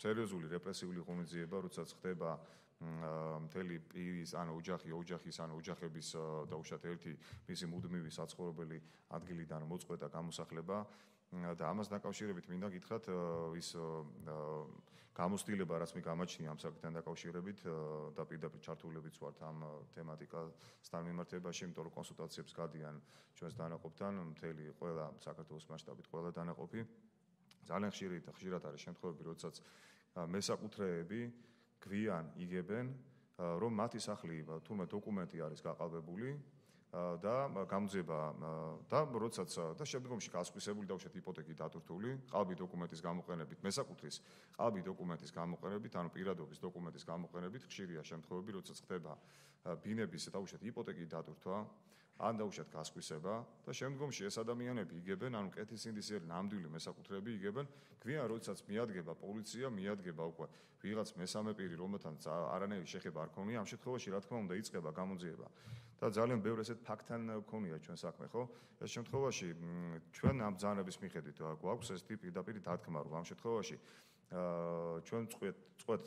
სერიოზული რეპრესიული ღონისძიება, როდესაც ხდება მთელი პირის, ანუ ოჯახის, ანუ ოჯახების დაუშვათ ერთი მისი მუდმივი საცხოვრებელი ადგილიდან მოწყვეტა გამოსახლება და ამას დაკავშირებით მინდა გითხრათ ის გამოცდილება, რაც მე გამაჩნია ამ საკითხთან დაკავშირებით და პირდაპირ ჩართულებიც ვართ ამ თემატიკასთან მიმართებაში, იმიტომ რომ კონსულტაციებს გადიან ჩვენს დანაყოფთან, მთელი ყველა საქართველოს მასშტაბით ყველა დანაყოფი. ძალიან ხშირად არის შემთხვევები, როდესაც მესაკუთრეები გვიან იგებენ, რომ მათი სახლი თურმე დოკუმენტი არის გაყალბებული და გამოძიება და როდესაც და შემდგომში გასხვისებული დაუშვათ იპოთეკით დატვირთული, ყალბი დოკუმენტის გამოყენებით, მესაკუთრის ყალბი დოკუმენტის გამოყენებით, ანუ პირადობის დოკუმენტის გამოყენებით ხშირია შემთხვევები, როდესაც ხდება ბინების დაუშვათ იპოთეკით დატვირთვა ან დაუშვათ გასხვისება და შემდგომში ეს ადამიანები იგებენ, ანუ კეთილსინდისიერი ნამდვილი მესაკუთრეები იგებენ, გვიან როდესაც მიადგება პოლიცია, მიადგება უკვე ვიღაც მესამე პირი, რომელთანაც არანაირი შეხება არ ქონია, ამ შემთხვევაში რა თქმა უნდა იწყება გამოძიება. და ძალიან ბევრ ესეთ ფაქტთან ქონია ჩვენ საქმე, ხო? ეს შემთხვევაში ჩვენ ამ ბრძანების მიხედვით გვაქვს ეს პირდაპირ დათქმა, რომ ამ შემთხვევაში ჩვენ წყვეტ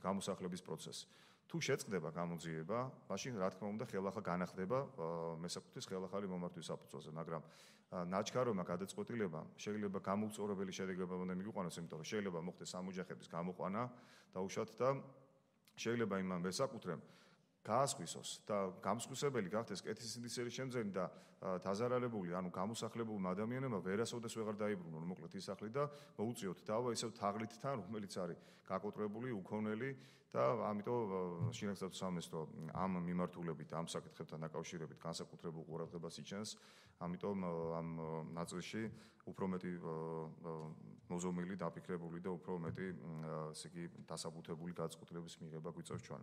გამოსახლების პროცესს. თუ შეწყდება გამოძიება, მაშინ რა თქმა უნდა ხელახლა განახდება მესაკუთრის ხელახალი მომართვის საფუძველზე, მაგრამ ნაჩქარომა გადაწყვეტილება შეიძლება გამოუწორებელი შედეგებამდე მიგვიყვანოს, იმიტომ რომ შეიძლება მოხდეს სამოჯახების გამოყვანა დაუშვათ და შეიძლება იმან მესაკუთრემ გაასხვისოს და გამსხვისებელი გახდეს კეთილსინდისიერი შემძენი და დაზარალებული, ანუ გამოსახლებულმა ადამიანებმა ვერასოდეს ვეღარ დაიბრუნონ მოკლედ ის სახლი და მოუწიოთ დავა ისევ თაღლითთან, რომელიც არის გაკოტრებული, უქონელი და ამიტომ შინაგანსაკუთრებო სამინისტრო ამ მიმართულებით, ამ საკითხებთან დაკავშირებით განსაკუთრებულ ყურადღებას იჩენს, ამიტომ ამ ნაწილში უფრო მეტი მოზომილი, დაფიქრებული და უფრო მეტი ესე იგი დასაბუთებული გადაწყვეტილების მიღება გვიწევს ჩვენ.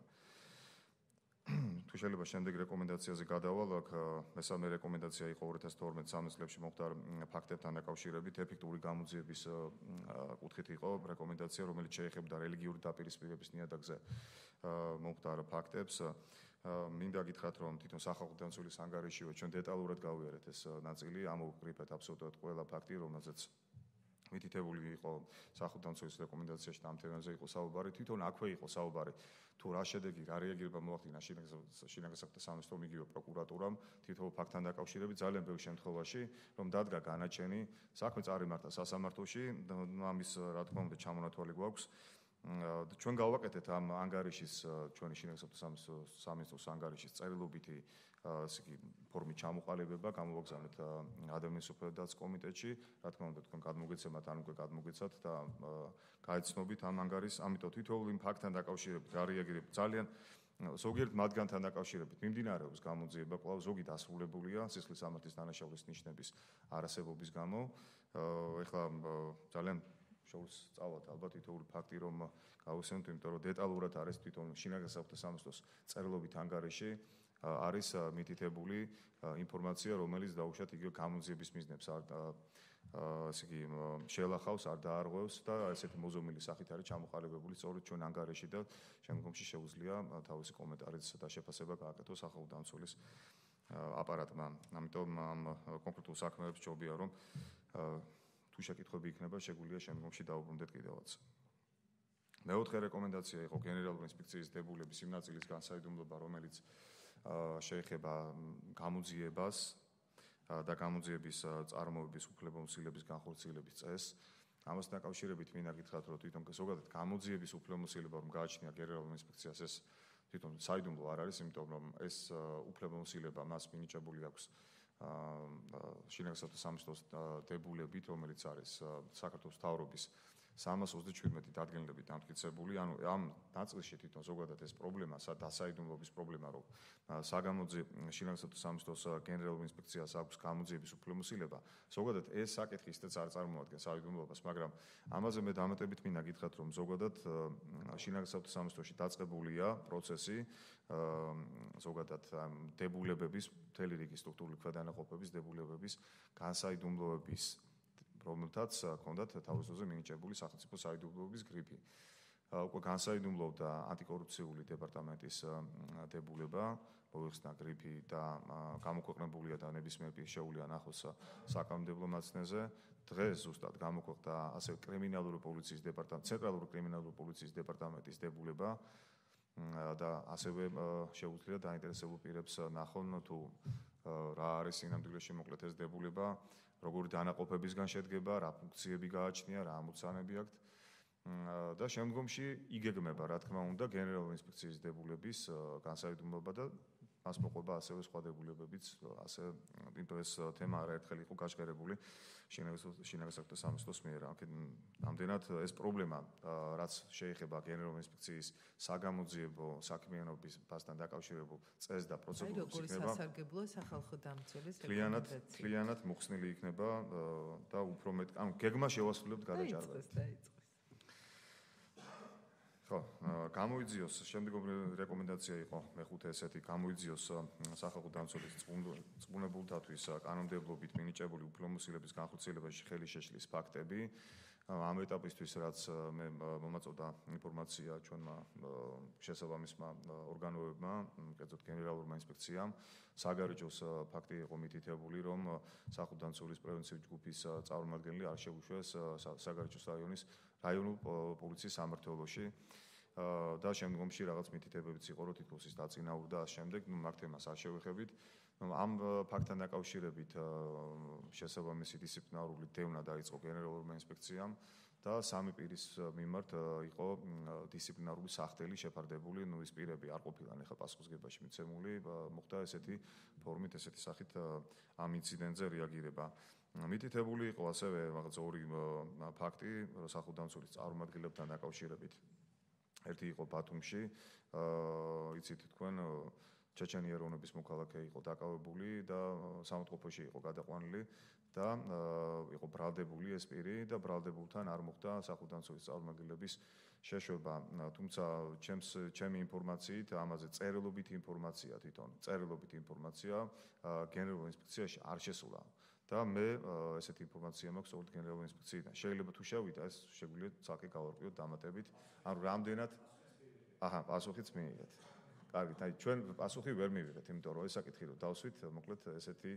თუ შეიძლება შემდეგ რეკომენდაციაზე გადავალ, აქ მესამე რეკომენდაცია იყო 2012-13 წლებში მომხდარ ფაქტებთან დაკავშირებით, ეფექტური გამოძიების კუთხით იყო რეკომენდაცია, რომელიც შეეხებოდა რელიგიური დაპირისპირების ნიადაგზე მომხდარ ფაქტებს. მინდა გითხრათ, რომ თვითონ სახალხო დამცველის ანგარიშივე ჩვენ დეტალურად გავიარეთ ეს ნაწილი, ამოვყრიფეთ აბსოლუტურად ყველა ფაქტი, რომელზეც მითითებული იყო სახალხო დამცველის რეკომენდაციაში და ამ თემაზე იყო საუბარი, თვითონ აქვე იყო საუბარი თუ რა შედეგი, რა რეაგირება მოახდინა შინაგანსაკუთრებო სამინისტრომ, იგივე პროკურატურამ თითოეულ ფაქტთან დაკავშირებით ძალიან ბევრ შემთხვევაში, რომ დადგა განაჩენი, საქმე წარიმართა სასამართლოში, ამის რა თქმა უნდა ჩამონათვალი გვაქვს. ჩვენ გავაკეთეთ ამ ანგარიშის ჩვენი შინაგანსაკუთრებო სამინისტროს ანგარიშის წერილობითი ფორმით ჩამოყალიბება, გამოვაგზავნეთ ადამიანის უფლებათა დაცვის კომიტეტში, რა თქმა უნდა თქვენ გადმოგეცემათ, ან უკვე გადმოგეცათ და გაეცნობით ამ ანგარიშს, ამიტომ თითოეულ იმ ფაქტთან დაკავშირებით რა რეაგირება ძალიან ზოგიერთ მათგანთან დაკავშირებით მიმდინარეობს გამოძიება, კვლავ ზოგი დასრულებულია სისხლის სამართლის დანაშაულის ნიშნების არასებობის გამო. ეხლა ძალიან შეუსწავლად ალბათ თითოეული ფაქტი რომ გავიხსენოთ, იმიტომ რომ დეტალურად არის თვითონ შინაგანსაკუთრებო სამინისტროს წერილობით ანგარიში არის მითითებული ინფორმაცია, რომელიც დაუშვათ იგივე გამოძიების მიზნებს ესე იგი შეელახავს, არ დაარღვევს და ესეთი მოზომილი სახით არის ჩამოყალიბებული სწორედ ჩვენ ანგარიში და შემდგომში შეუძლია თავისი კომენტარიც და შეფასება გააკეთოს სახალხო დამცველის აპარატმა. ამიტომ ამ კონკრეტულ საქმეებს ჯობია რომ თუ შეკითხვები იქნება, შეგვიძლია შემდგომში დაუბრუნდეთ კიდევაც. მეოთხე რეკომენდაცია იყო გენერალური ინსპექციის დებულების იმ ნაწილის განსაიდუმლოება, რომელიც შეეხება გამოძიებას და გამოძიების წარმოების უფლებამოსილების განხორციელების წესს. ამასთან დაკავშირებით მინდა გითხრათ, რომ თვითონ ზოგადად გამოძიების უფლებამოსილება რომ გააჩნია გენერალურ ინსპექციას, ეს თვითონ საიდუმლო არ არის, იმიტომ რომ ეს უფლებამოსილება მას მინიჭებული აქვს შინაგანსაკუთრებო სამინისტროს დებულებით, რომელიც არის საქართველოს მთავრობის 327 დადგენილებით დამტკიცებული, ანუ ამ ნაწილში თვითონ ზოგადად ეს პრობლემა, დასაიდუმლოების პრობლემა, რომ შინაგანსაკუთრებო სამინისტროს გენერალურ ინსპექციას აქვს გამოძიების უფლებამოსილება, ზოგადად ეს საკითხი ისედაც არ წარმოადგენს საიდუმლოებას, მაგრამ ამაზე მე დამატებით მინდა გითხრათ, რომ ზოგადად შინაგანსაკუთრებო სამინისტროში დაწყებულია პროცესი ზოგადად დებულებების, მთელი რიგი სტრუქტურული ქვედანაყოფების დებულებების განსაიდუმლოების რომელთაც ჰქონდათ თავის დროზე მინიჭებული სახელმწიფო საიდუმლოების გრიფი. უკვე განსაიდუმლოვდა ანტიკორუფციული დეპარტამენტის დებულება, მოიხსნა გრიფი და გამოქვეყნებულია და ნებისმიერ პირს შეუძლია ნახოს საკანონმდებლო მაცნეზე. დღეს ზუსტად გამოქვეყნდა ასევე კრიმინალური პოლიციის დეპარტამენტის, ცენტრალური კრიმინალური პოლიციის დეპარტამენტის დებულება და ასევე შეუძლია დაინტერესებულ პირებს ნახონ თუ რა არის სინამდვილეში მოკლედ ეს დებულება, როგორი დანაყოფებისგან შედგება, რა ფუნქციები გააჩნია, რა ამოცანები აქვთ და შემდგომში იგეგმება, რა თქმა უნდა, გენერალური ინსპექციის დებულების განსაიდუმლოება და მას მოყვება ასევე სხვა დებულებებიც, ასე ეს თემა არაერთხელ იყო გაჟღერებული შინაგანსაკუთრებო სამინისტროს მიერ. ამდენად ეს პრობლემა, რაც შეეხება გენერალური ინსპექციის საგამოძიებო საქმიანობასთან დაკავშირებულ წესს და პროცედურებს იქნება სასარგებლო სახალხო დამცველის მთლიანად მოხსნილი იქნება და უფრო მეტ, ანუ გეგმა შევასრულებთ გადაჭარბებით. ხო, გამოიძიოს შემდეგი რეკომენდაცია იყო მეხუთე ესეთი გამოიძიოს სახალხო დამცველის წყუნებულთათვის კანონმდებლობით მინიჭებული უფლებამოსილების განხორციელებაში ხელი შეშლის ფაქტები. ამ ეტაპისთვის რაც მე მომაწოდა ინფორმაცია ჩვენმა შესაბამისმა ორგანოებმა, კერძოდ გენერალურმა ინსპექციამ, საგარეჯოს ფაქტი იყო მითითებული, რომ სახალხო დამცველის პრევენციული ჯგუფის წარმომადგენელი არ შეუშვეს საგარეჯოს რაიონულ პოლიციის სამმართველოში და შემდგომში რაღაც მითითებებიც იყო, რომ თითქოს ის დაწინაურდა და შემდეგ, მაგ თემას არ შევეხებით. ამ ფაქტთან დაკავშირებით შესაბამისი დისციპლინარული დევნა დაიწყო გენერალურმა ინსპექციამ და სამი პირის მიმართ იყო დისციპლინარული სახდელი შეფარდებული, ის პირები არ ყოფილან ახლა პასუხისგებაში მიცემული, მოხდა ესეთი ფორმით, ესეთი სახით ამ ინციდენტზე რეაგირება. მითითებული იყო ასევე რაღაც ორი ფაქტი სახალხო დამცველის წარმომადგენლებთან დაკავშირებით. ერთი იყო ბათუმში, იცით თქვენ ჩეჩენი ეროვნების მოქალაქე იყო დაკავებული და სამოთყოფოში იყო გადაყვანილი და იყო ბრალდებული ეს პირი და ბრალდებულთან არ მოხდა სახალხო დამცველის წარმომადგენლების შეშვება. თუმცა ჩემი ინფორმაციით ამაზე წერილობითი ინფორმაცია თვითონ წერილობითი ინფორმაცია გენერალურ ინსპექციაში არ შესულა. და მე ესეთი ინფორმაცია მაქვს ოღონდ გენერალურ ინსპექციიდან. შეიძლება თუ შევიდა ეს შეგვიძლია ცალკე გავარკვიოთ დამატებით. ანუ რამდენად პასუხიც მიიღეთ. კარგით, აი ჩვენ პასუხი ვერ მივიღეთ, იმიტომ რომ ეს საკითხი რომ დავსვით, მოკლედ ესეთი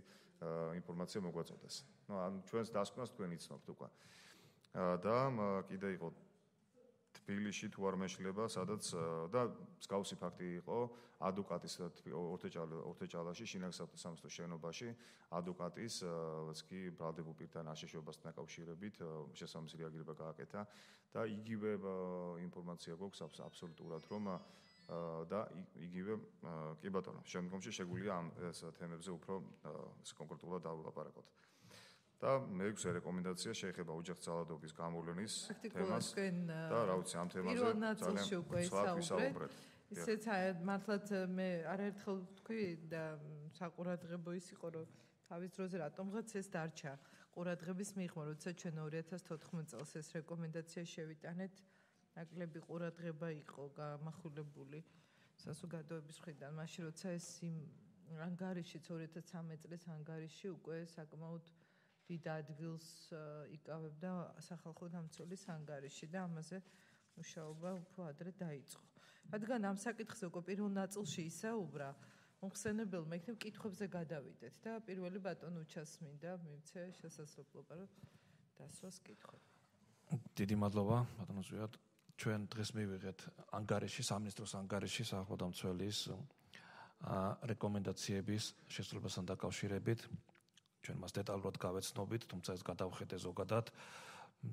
ინფორმაცია მოგვაწოდეს. ანუ ჩვენს დასკვნას თქვენ იცნობთ უკვე. და კიდე იყო თბილისში თუ არ მეშლება, სადაც და მსგავსი ფაქტი იყო ადვოკატის ორთეჭალაში, შინაგან-სამართლის შენობაში, ადვოკატის კი ბრალდებულ პირთან აშეშობასთან დაკავშირებით შესაბამისი რეაგირება გააკეთა და იგივე ინფორმაცია გვაქვს აბსოლუტურად, რომ და იგივე კი ბატონო, შემდგომში შეგვიძლია ამ თემებზე უფრო კონკრეტულად დავილაპარაკოთ. და მეექვსე რეკომენდაცია შეეხება ოჯახძალადობის გამოვლენის თემას და რა ვიცი ამ თემაზე პირველ ნაწილში უკვე ისაუბრეთ. ისეც მართლაც მე არაერთხელ ვთქვი და საყურადღებო ის იყო, რომ თავის დროზე რატომღაც ეს დარჩა ყურადღების მიღმა, როცა ჩვენ 2014 წელს ეს რეკომენდაცია შევიტანეთ, ნაკლები ყურადღება იყო გამახვილებული საზოგადოების მხრიდან, მაშინ როცა ეს ანგარიშიც 2013 წლის ანგარიში უკვე საკმაოდ დიდ ადგილს იკავებდა სახალხო დამცველის ანგარიში და ამაზე მუშაობა უფრო ადრე დაიწყო. რადგან ამ საკითხზე უკვე პირველ ნაწილში ისაუბრა, მომხსენებელმა იქნებ კითხვებზე გადავიდეთ და პირველი ბატონო უჩასმინდა მივცე შესაძლებლობა რომ დასვას კითხვები. დიდი მადლობა ბატონო ზვიად. ჩვენ დღეს მივიღეთ ანგარიში, სამინისტროს ანგარიში სახალხო დამცველის რეკომენდაციების შესრულებასთან დაკავშირებით. ჩვენ მას დეტალურად გავეცნობით, თუმცა ეს გადავხედე ზოგადად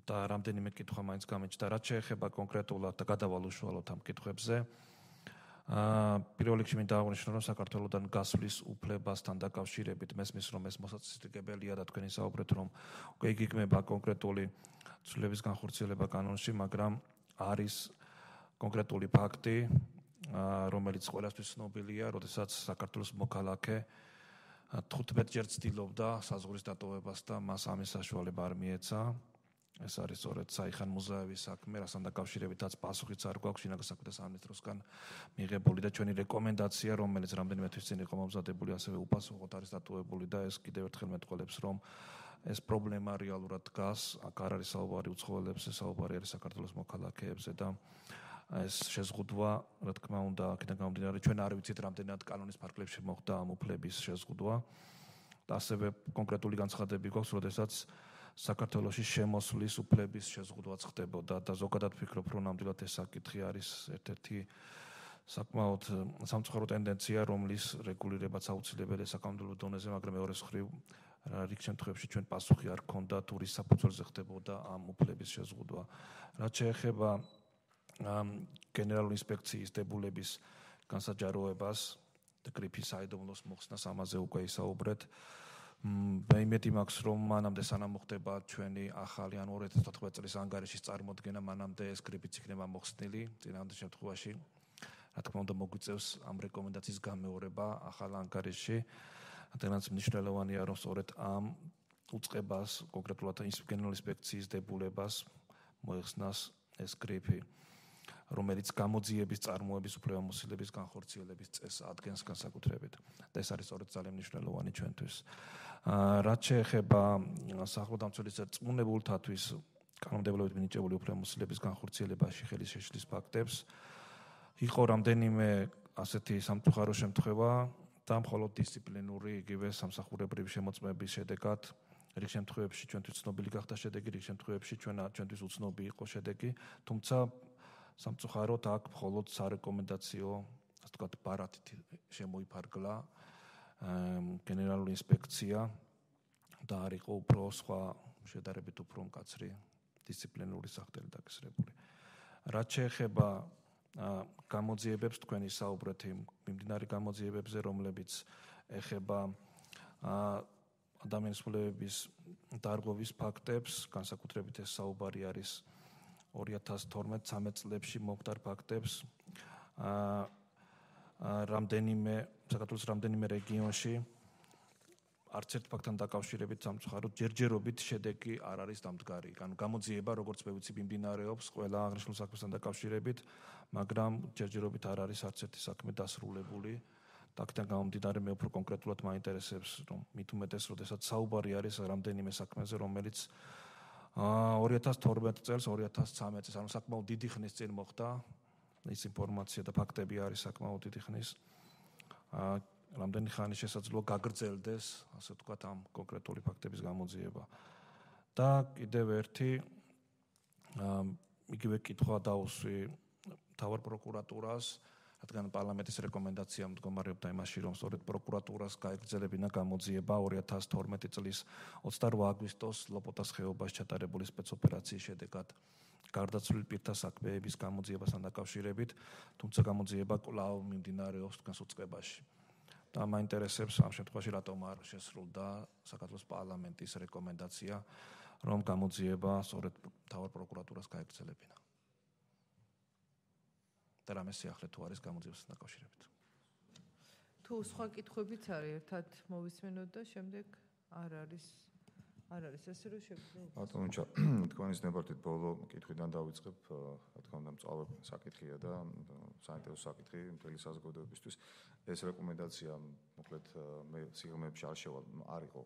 და რამდენიმე კითხვა მაინც გამეჩნდა, რაც შეეხება კონკრეტულად და გადავალ უშუალოდ ამ კითხვებზე. პირველ რიგში მინდა აღვნიშნო, რომ საქართველოსთან გასვლის უფლებასთან დაკავშირებით მესმის, რომ ეს მოსაწესრიგებელია და თქვენ ისაუბრეთ, რომ უკვე იგეგმება კონკრეტული ცვლილების განხორციელება კანონში, მაგრამ არის კონკრეტული ფაქტი, რომელიც ყველასთვის ცნობილია, როდესაც საქართველოს მოქალაქე 15 ჯერ ცდილობდა საზღვრის დატოვებას და მას ამის საშუალება არ მიეცა. ეს არის სწორედ საიხან მუზაევის საქმე, რასთან დაკავშირებითაც პასუხიც არ გვაქვს შინაგან საქმეთა სამინისტროსგან მიღებული და ჩვენი რეკომენდაცია, რომელიც რამდენიმე თვის წინ იყო მომზადებული, ასევე უპასუხოდ არის დატოვებული და ეს კიდევ ერთხელ მეტყველებს, რომ ეს პრობლემა რეალურად დგას, აქ არ არის საუბარი უცხოელებზე, საუბარი არის საქართველოს მოქალაქეებზე და ეს შეზღუდვა, რა თქმა უნდა, აქედან გამომდინარე, ჩვენ არ ვიცით რამდენად კანონის ფარგლებში მოხდა ამ უფლების შეზღუდვა. და ასევე კონკრეტული განცხადები გვაქვს, როდესაც საქართველოში შემოსვლის უფლების შეზღუდვაც ხდებოდა და ზოგადად ვფიქრობ, რომ ნამდვილად ეს საკითხი არის ერთ-ერთი საკმაოდ სამწუხარო ტენდენცია, რომლის რეგულირებაც აუცილებელია საკანონმდებლო დონეზე, მაგრამ მეორე მხრივ რიგ შემთხვევებში ჩვენ პასუხი არ გქონდა თუ რის საფუძველზე ხდებოდა ამ უფლების შეზღუდვა. რაც შეეხება გენერალური ინსპექციის დებულების განსაჯაროებას და გრიფის საიდუმლოს მოხსნას ამაზე უკვე ისაუბრეთ. მე იმედი მაქვს, რომ მანამდე სანამ მოხდება ჩვენი ახალი ან 2014 წლის ანგარიშის წარმოდგენა, მანამდე ეს გრიფიც იქნება მოხსნილი. წინააღმდეგ შემთხვევაში, რა თქმა უნდა, მოგვიწევს ამ რეკომენდაციის გამეორება ახალ ანგარიშში. რადგანაც მნიშვნელოვანია, რომ სწორედ ამ უწყებას, კონკრეტულად გენერალური ინსპექციის დებულებას მოეხსნას ეს გრიფი. რომელიც გამოძიების წარმოების უფლებამოსილების განხორციელების წესს ადგენს განსაკუთრებით. და ეს არის სწორედ ძალიან მნიშვნელოვანი ჩვენთვის. რაც შეეხება სახელმწიფოს წმუნებულთათვის კანონმდებლობით მინიჭებული უფლებამოსილების განხორციელებაში ხელის შეშლის ფაქტებს იყო რამდენიმე ასეთი სამწუხარო შემთხვევა და მხოლოდ დისციპლინური იგივე სამსახურებრივი შემოწმების შედეგად რიგ შემთხვევებში ჩვენთვის ცნობილი გახდა შედეგი, რიგ შემთხვევებში ჩვენთვის უცნობი იყო შედეგი, თუმცა სამწუხაროდ აქ მხოლოდ სარეკომენდაციო, ასე ვთქვათ, ბარათით შემოიფარგლა გენერალური ინსპექცია და არ იყო უფრო სხვა შედარებით უფრო მკაცრი დისციპლინური სახელი დაკისრებული. რაც შეეხება გამოძიებებს თქვენი საუბრეთ მიმდინარე გამოძიებებზე, რომლებიც ეხება ადამიანის უფლებების დარღვევის ფაქტებს, განსაკუთრებით ეს საუბარი არის 2012-13 წლებში მომხდარ ფაქტებს. საქართველოს რამდენიმე რეგიონში არც ერთ ფაქტთან დაკავშირებით სამწუხაროდ ჯერჯერობით შედეგი არ არის დამდგარი. ანუ გამოძიება, როგორც მე ვიცი, მიმდინარეობს ყველა აღნიშნულ საქმესთან დაკავშირებით, მაგრამ ჯერჯერობით არ არის არც ერთი საქმე დასრულებული. აქედან გამომდინარე მე უფრო კონკრეტულად მაინტერესებს, რომ მით უმეტეს, როდესაც საუბარი არის რამდენიმე საქმეზე, რომელიც 2012 წელს, 2013 წელს, ანუ საკმაოდ დიდი ხნის წინ მოხდა. ის ინფორმაცია და ფაქტები არის საკმაოდ დიდი ხნის. რამდენი ხანი შესაძლოა გაგრძელდეს, ასე ვთქვათ, ამ კონკრეტული ფაქტების გამოძიება. და კიდევ ერთი იგივე კითხვა დაუსვი მთავარ პროკურატურას, რადგან პარლამენტის რეკომენდაცია მდგომარეობდა იმაში, რომ სწორედ პროკურატურას გაეგრძელებინა გამოძიება 2012 წლის 28 აგვისტოს ლოპოტას ხეობაში ჩატარებული სპეცოპერაციის შედეგად გარდაცვლილ პირთა საქმეების გამოძიებასთან დაკავშირებით, თუმცა გამოძიება კვლავ მიმდინარეობს დგას უწყებაში. და მაინტერესებს ამ შემთხვევაში რატომ არ შესრულდა საქართველოს პარლამენტის რეკომენდაცია, რომ გამოძიება სწორედ მთავარ პროკურატურას გაეგრძელებინა. და რამე სიახლე თუ არის გამოძიებასთან დაკავშირებით. თუ სხვა კითხვებიც არის, ერთად მოვისმენოთ და შემდეგ არ არის ესე რომ შეგვიძლია. ბატონო, თქვენის ნებართვით ბოლო კითხვიდან დავიწყებ, რა თქმა უნდა, მწვავე საკითხია და საინტერესო საკითხი მთელი საზოგადოებისთვის. ეს რეკომენდაცია, მოკლედ, მე სიღრმეებში არ შევალ, არ იყო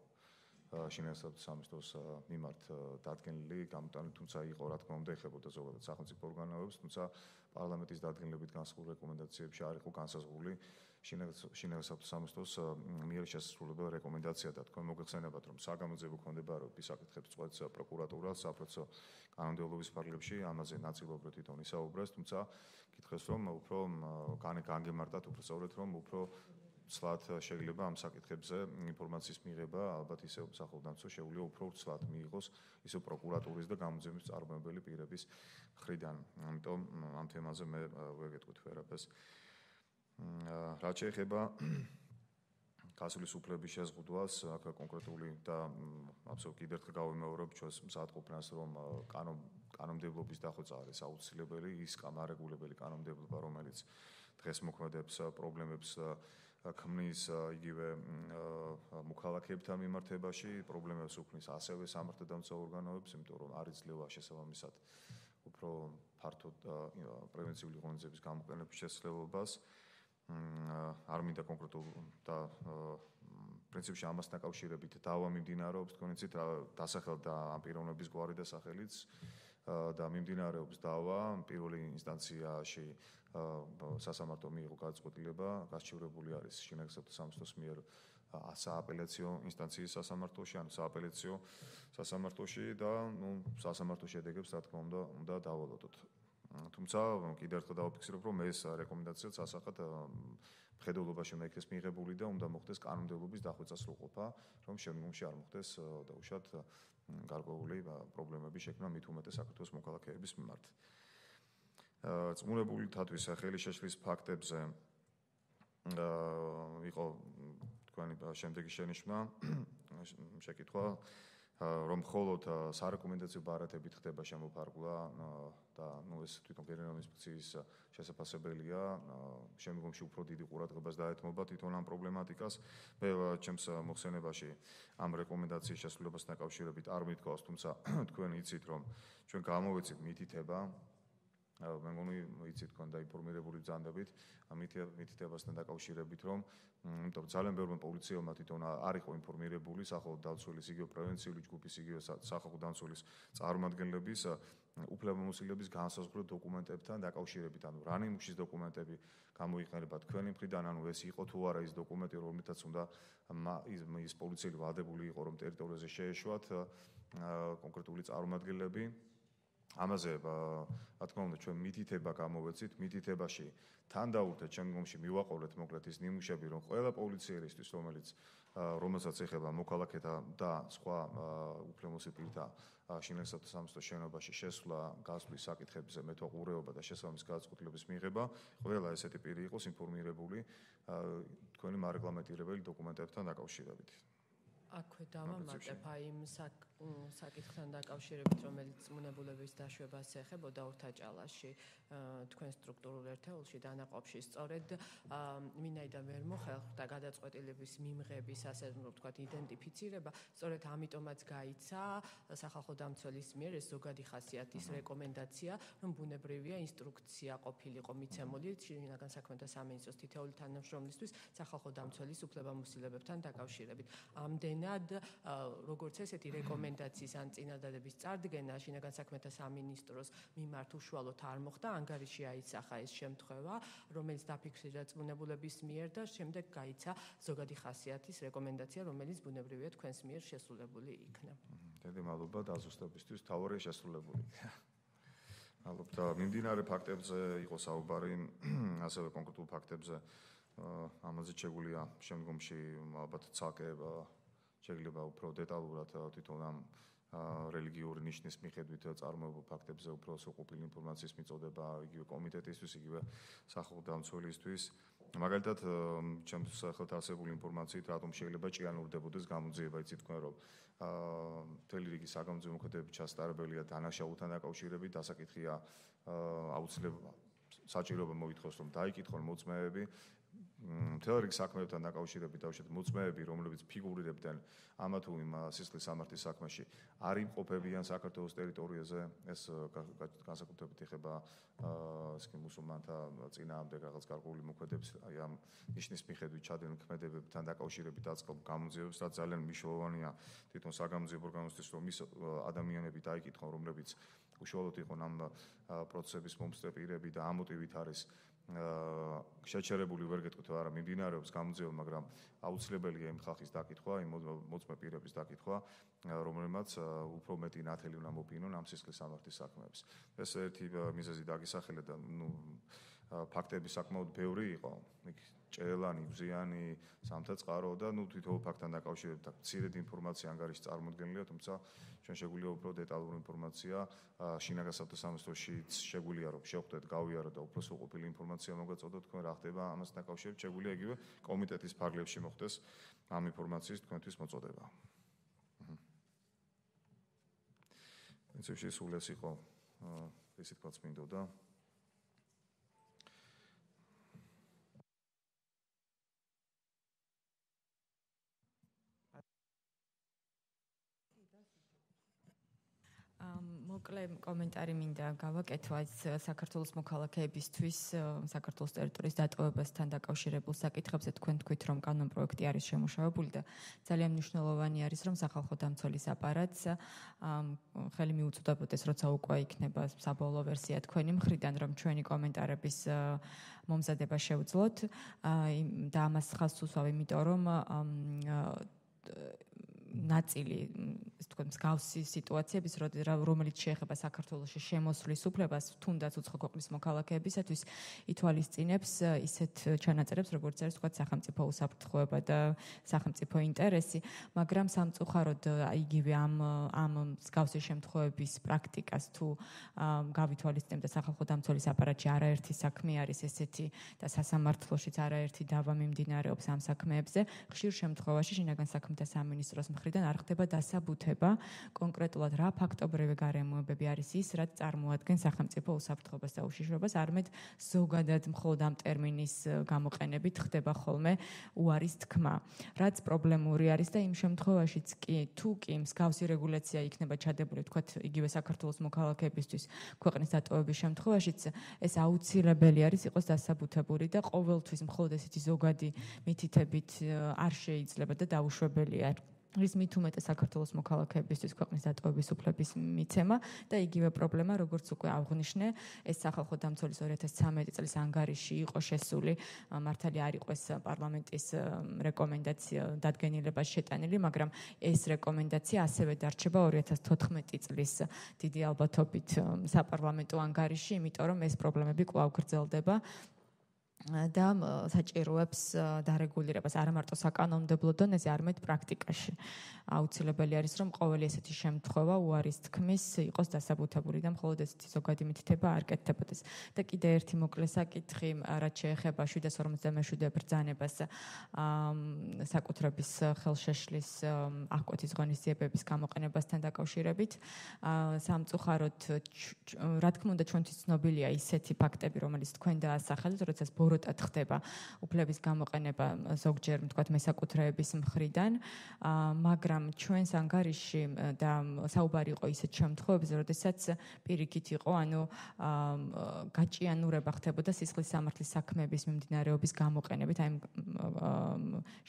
შინაგანსაკუთრების სამინისტროს მიმართ დადგენილი, გამოტანილი, თუმცა იყო, რა თქმა უნდა, ეხებოდა ზოგადად სახელმწიფო ორგანოებს, თუმცა პარლამენტის დადგენილებით განსაზღვრულ რეკომენდაციებში არ იყო განსაზღვრული შინაგანსაკუთრების სამინისტროს მიერ შესრულებელ რეკომენდაცია და თქვენ მოგეხსენებათ, რომ საგამოძიებო ქონდებარების საკითხებს წყვეტს პროკურატურა საპროცესო კანონმდებლობის ფარგლებში, ამაზე ნაწილობრივ თვითონ ისაუბრეს, თუმცა კითხეს, რომ უფრო განგემართათ, უფრო სწორედ, რომ უფრო ცლად შეიძლება ამ საკითხებზე ინფორმაციის მიღება, ალბათ ისე სახელმწიფო შეუძლია უფრო ცლად მიიღოს ისო პროკურატურის და გამოძიების წარმომებელი პირების მხრიდან. ამიტომ ამ თემაზე მე ვეგეთქვით ვერაფერს. რაც შეეხება გასulis უფლების შეზღუდვას, აქ კონკრეტული და აბსოლუტურად კიდევ ერთხელ გავიმეორებ ჩვენს მზადყოფნას, რომ კანონმდებლობის დახვეწა არის აუცილებელი, ის კანონმდებლობელი კანონმდებლობა, რომელიც დღეს მოქმედებს პრობლემებს ქმნის იგივე მოქალაქეებთან მიმართებაში, პრობლემებს უქმნის ასევე სამართალდამცავ ორგანოებს, იმიტომ რომ არ იძლევა შესაბამისად უფრო ფართოდ პრევენციული ღონისძიების გამოყენების შესაძლებლობას. არ მინდა კონკრეტულ და პრინციპში ამასთან დაკავშირებით დავა მიმდინარეობს, თქვენ იცით, დასახელდა ამ პიროვნების გვარი და სახელიც და მიმდინარეობს დავა პირველი ინსტანციაში სასამართლო მიიღო გადაწყვეტილება, გასჩივრებული არის შინაგანსაკუთრების სამინისტროს მიერ სააპელაციო ინსტანციის სასამართლოში, ანუ სააპელაციო სასამართლოში და სასამართლო შედეგებს, რა თქმა უნდა დავალოდოთ. თუმცა კიდევ ერთხელ დავაფიქსირებ, რომ ეს რეკომენდაციაც ასახად მხედველობაში უნდა იქნეს მიღებული და უნდა მოხდეს კანონმდებლობის დახვეწა სრულყოფა, რომ შემდგომში არ მოხდეს დაუშვათ გარკვეული პრობლემები შექმნა მით უმეტეს საქართველოს მოქალაქეების მიმართ. წმუნებულთათვის ხელი შეშლის ფაქტებზე იყო თქვენი შემდეგი შენიშვნა, შეკითხვა, რომ მხოლოდ სარეკომენდაციო ბარათებით ხდება შემოფარგლა და ეს თვითონ გენერალური ინსპექციის შესაძლებელია შემდგომში უფრო დიდი ყურადღებას დაეთმობა თვითონ ამ პრობლემატიკას. მე ჩემს მოხსენებაში ამ რეკომენდაციის შესრულებასთან დაკავშირებით არ მithქვავს, თუმცა თქვენ იცით, რომ ჩვენ გამოვეცით მითითება მე მგონი იცით თქვენ დაინფორმირებული ბრძანდებით მითითებასთან დაკავშირებით რომ იმიტომ ძალიან ბევრი პოლიციელმა თვითონ არ იყო ინფორმირებული სახალხო დამცველის იგივე პრევენციული ჯგუფის იგივე სახალხო დამცველის წარმომადგენლების უფლებამოსილების განსაზღვრულ დოკუმენტებთან დაკავშირებით ანუ რა ნიმუშის დოკუმენტები გამოიყენება თქვენი მხრიდან ანუ ეს იყო თუ არა ის დოკუმენტი რომელთაც უნდა ის პოლიციელი ვალდებული იყო რომ ტერიტორიაზე შეეშვათ კონკრეტული წარმომადგენლები ამაზე რა თქმა უნდა ჩვენ მითითება გამოვეცით მითითებაში თან დაურთეთ შემდგომში მივაყოლეთ მოკლედ ის ნიმუშები რომ ყველა პოლიციელისთვის რომელსაც ეხება მოქალაქეთა და სხვა უფლებამოსილ პირთა შინაგანსა სამსტო შენობაში შესვლა გასვლის საკითხებზე მეთვალყურეობა და შესაბამის გადაწყვეტილების მიღება ყველა ესეთი პირი იყოს ინფორმირებული თქვენი მარეგლამენტირებელი დოკუმენტებთან დაკავშირებით აქვე დავამატებ იმ საკითხთან დაკავშირებით, რომელიც მუნებულების დაშვებას ეხებოდა ურთაჭალაში თქვენ სტრუქტურულ ერთეულში დანაყოფში სწორედ მინაიდან ვერ მოხერხდა გადაწყვეტილების მიმღების ასე ვთქვათ იდენტიფიცირება, სწორედ ამიტომაც გაიცა სახალხო დამცველის მიერ ეს ზოგადი ხასიათის რეკომენდაცია, რომ ბუნებრივია ინსტრუქცია ყოფილიყო მიცემული შინაგან საქმეთა სამინისტროს თითოეული თანამშრომლისთვის სახალხო დამცველის უფლებამოსილებებთან დაკავშირებით. ამდენად როგორც ესეთი რეკომენდაციის ან წინადადების წარდგენა შინაგან საქმეთა სამინისტროს მიმართ უშუალოდ არ მოხდა, ანგარიში აიცახა ეს შემთხვევა, რომელიც დაფიქსირდა ბუნებულების მიერ და შემდეგ გაიცა ზოგადი ხასიათის რეკომენდაცია, რომელიც ბუნებრივია თქვენს მიერ შესრულებული იქნა. დიდი მადლობა დაზუსტებისთვის, თავარია შესრულებული. მადლობა. მიმდინარე ფაქტებზე იყო საუბარი, ასევე კონკრეტულ ფაქტებზე ამაზე შეგვიძლია შემდგომში ალბათ ცალკე შეიძლება უფრო დეტალურად თვითონ ამ რელიგიური ნიშნის მიხედვით წარმოებულ ფაქტებზე უფრო სრულყოფილი ინფორმაციის მიწოდება იგივე კომიტეტისთვის, იგივე სახალხო დამცველისთვის. მაგალითად, ჩემთვის ხელთ არსებული ინფორმაციით, რატომ შეიძლება ჭიანურდებოდეს გამოძიება, იცით თქვენ რომ მთელი რიგი საგამოძიებო მოქმედებები ჩასტარებელია დანაშაულთან დაკავშირებით, დასაკითხია აუცილებლად საჭიროება მოითხოვს რომ დაიკითხონ მოწმეები მთელ რიგ საქმეებთან დაკავშირებით დავუშვათ მოწმეები, რომლებიც ფიგურირებდნენ ამა თუ იმ სისხლის სამართლის საქმეში, არ იმყოფებიან საქართველოს ტერიტორიაზე, ეს განსაკუთრებით ეხება მუსულმანთა წინააღმდეგ რაღაც გარკვეული მოქმედებს, აი ამ ნიშნის მიხედვით ჩადენილ ქმედებებთან დაკავშირებით დაწყობ გამოძიებებს, რაც ძალიან მნიშვნელოვანია თვითონ საგამოძიებო ორგანოსთვის, რომ ის ადამიანები დაიკითხონ, რომლებიც უშუალოდ იყვნენ ამ პროცესების მომსწრე პირები და ამ მოტივით არის შეჩერებული ვერ გეტყვით არა მიმდინარეობს გამოძიება, მაგრამ აუცილებელია იმ ხალხის დაკითხვა, იმ მოწმე პირების დაკითხვა, რომელმაც უფრო მეტი ნათელი უნდა მოფინონ ამ სისხლის სამართლის საქმეებს. ეს ერთი მიზეზი დაგისახელა და ფაქტები საკმაოდ ბევრი იყო. ჭელანი, ბზიანი, სამთაწყარო და თითოეულ ფაქტთან დაკავშირებით მცირედ ინფორმაცია ანგარიში წარმოდგენილია, თუმცა ჩვენ შეგვიძლია უფრო დეტალური ინფორმაცია შინაგან საქმეთა სამინისტროშიც შეგვიძლია რომ შევხვდეთ, გავიაროთ და უფრო სრულყოფილი ინფორმაცია მოგაწოდოთ თქვენ რა ხდება ამასთან დაკავშირებით, შეგვიძლია იგივე კომიტეტის ფარგლებში მოხდეს ამ ინფორმაციის თქვენთვის მოწოდება. პრინციპში სულ ეს იყო ისე თქვაც მინდოდა. მოკლე კომენტარი მინდა გავაკეთო საქართველოს მოქალაქეებისთვის საქართველოს ტერიტორიის დატოვებასთან დაკავშირებულ საკითხებზე. თქვენ თქვით, რომ კანონპროექტი არის შემუშავებული და ძალიან მნიშვნელოვანი არის, რომ სახალხო დამცველის აპარატს ხელი მიუწვდებოდეს, როცა უკვე იქნება საბოლოო ვერსია თქვენი მხრიდან, რომ ჩვენი კომენტარების მომზადება შევძლოთ და ამას ხაზს უსვავ, იმიტომ რომ ნაწილი თქვენ მსგავსი სიტუაციების, რომელიც შეეხება საქართველოში შემოსვლის უფლებას, თუნდაც უცხო ქვეყნის მოქალაქეებისათვის ითვალისწინებს ისეთ ჩანაწერებს, როგორც არის თქვა სახელმწიფო უსაფრთხოება და სახელმწიფო ინტერესი, მაგრამ სამწუხაროდ იგივე ამ მსგავსი შემთხვევების პრაქტიკას თუ გავითვალისწინებთ და სახალხო დამცველის აპარატში არაერთი საქმე არის ესეთი და სასამართლოშიც არაერთი დავა მიმდინარეობს ამ საქმეებზე, ხშირ შემთხვევაში შინაგან საქმეთა სამინისტროს მხრიდან არ ხდება დასაბუთება კონკრეტულად რა ფაქტობრივი გარემოებები არის ის, რაც წარმოადგენს სახელმწიფო უსაფრთხოებას და უშიშროებას, არამედ ზოგადად მხოლოდ ამ ტერმინის გამოყენებით ხდება ხოლმე უარის თქმა. რაც პრობლემური არის და იმ შემთხვევაშიც კი თუ კი მსგავსი რეგულაცია იქნება ჩადებული, თქვათ, იგივე საქართველოს მოქალაქეებისთვის ქვეყნის დატოვების შემთხვევაშიც ეს აუცილებელი არის იყოს დასაბუთებული და ყოველთვის მხოლოდ ესეთი ზოგადი მითითებით არ შეიძლება და დაუშვებელია. რის მით უმეტეს საქართველოს მოქალაქეებისთვის ქვეყნის დატოვების უფლების მიცემა და იგივე პრობლემა, როგორც უკვე აღვნიშნე, ეს სახალხო დამცველის 2013 წლის ანგარიში იყო შესული, მართალია არ იყო ეს პარლამენტის რეკომენდაცია დადგენილებას შეტანილი, მაგრამ ეს რეკომენდაცია ასევე დარჩება 2014 წლის დიდი ალბათობით საპარლამენტო ანგარიში, იმიტომ რომ ეს პრობლემები კვლავ გრძელდება. და საჭიროებს დარეგულირებას არა მარტო საკანონმდებლო დონეზე, არამედ პრაქტიკაში. აუცილებელი არის, რომ ყოველი ესეთი შემთხვევა უარის თქმის იყოს დასაბუთებული და მხოლოდ ესეთი ზოგადი მითითება არ კეთდებოდეს. და კიდე ერთი მოკლე საკითხი, რაც შეეხება 757 ბრძანებას საკუთრების ხელშეშლის აღკვეთის ღონისძიებების გამოყენებასთან დაკავშირებით. სამწუხაროდ, რა თქმა უნდა, ჩვენთვის ცნობილია ისეთი ფაქტები, რომელიც თქვენ დაასახელეთ, როდესაც ბოროტად ხდება უფლების გამოყენება ზოგჯერ, თქვათ, მესაკუთრეების მხრიდან, მაგრამ ჩვენს ანგარიში და საუბარი იყო ისეთ შემთხვევებზე, როდესაც პირიქით იყო, ანუ გაჭიანურება ხდებოდა სისხლის სამართლის საქმეების მიმდინარეობის გამოყენებით, აი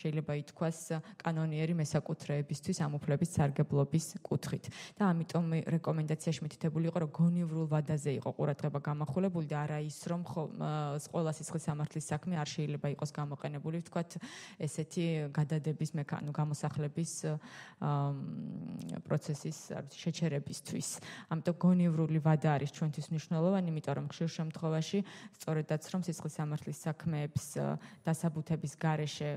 შეიძლება ითქვას კანონიერი მესაკუთრეებისთვის ამ უფლების სარგებლობის კუთხით. და ამიტომ რეკომენდაციაში მითითებული იყო, რომ გონივრულ ვადაზე იყო ყურადღება გამახვილებული და არა ის, რომ ყველა სისხლის სამართლის საქმე არ შეიძლება იყოს გამოყენებული, ვთქვათ, ესეთი გადადების გამოსახლების პროცესის შეჩერებისთვის. ამიტომ გონივრული ვადა არის ჩვენთვის მნიშვნელოვანი, იმიტომ რომ ხშირ შემთხვევაში სწორედაც რომ სისხლის სამართლის საქმეებს დასაბუთების გარეშე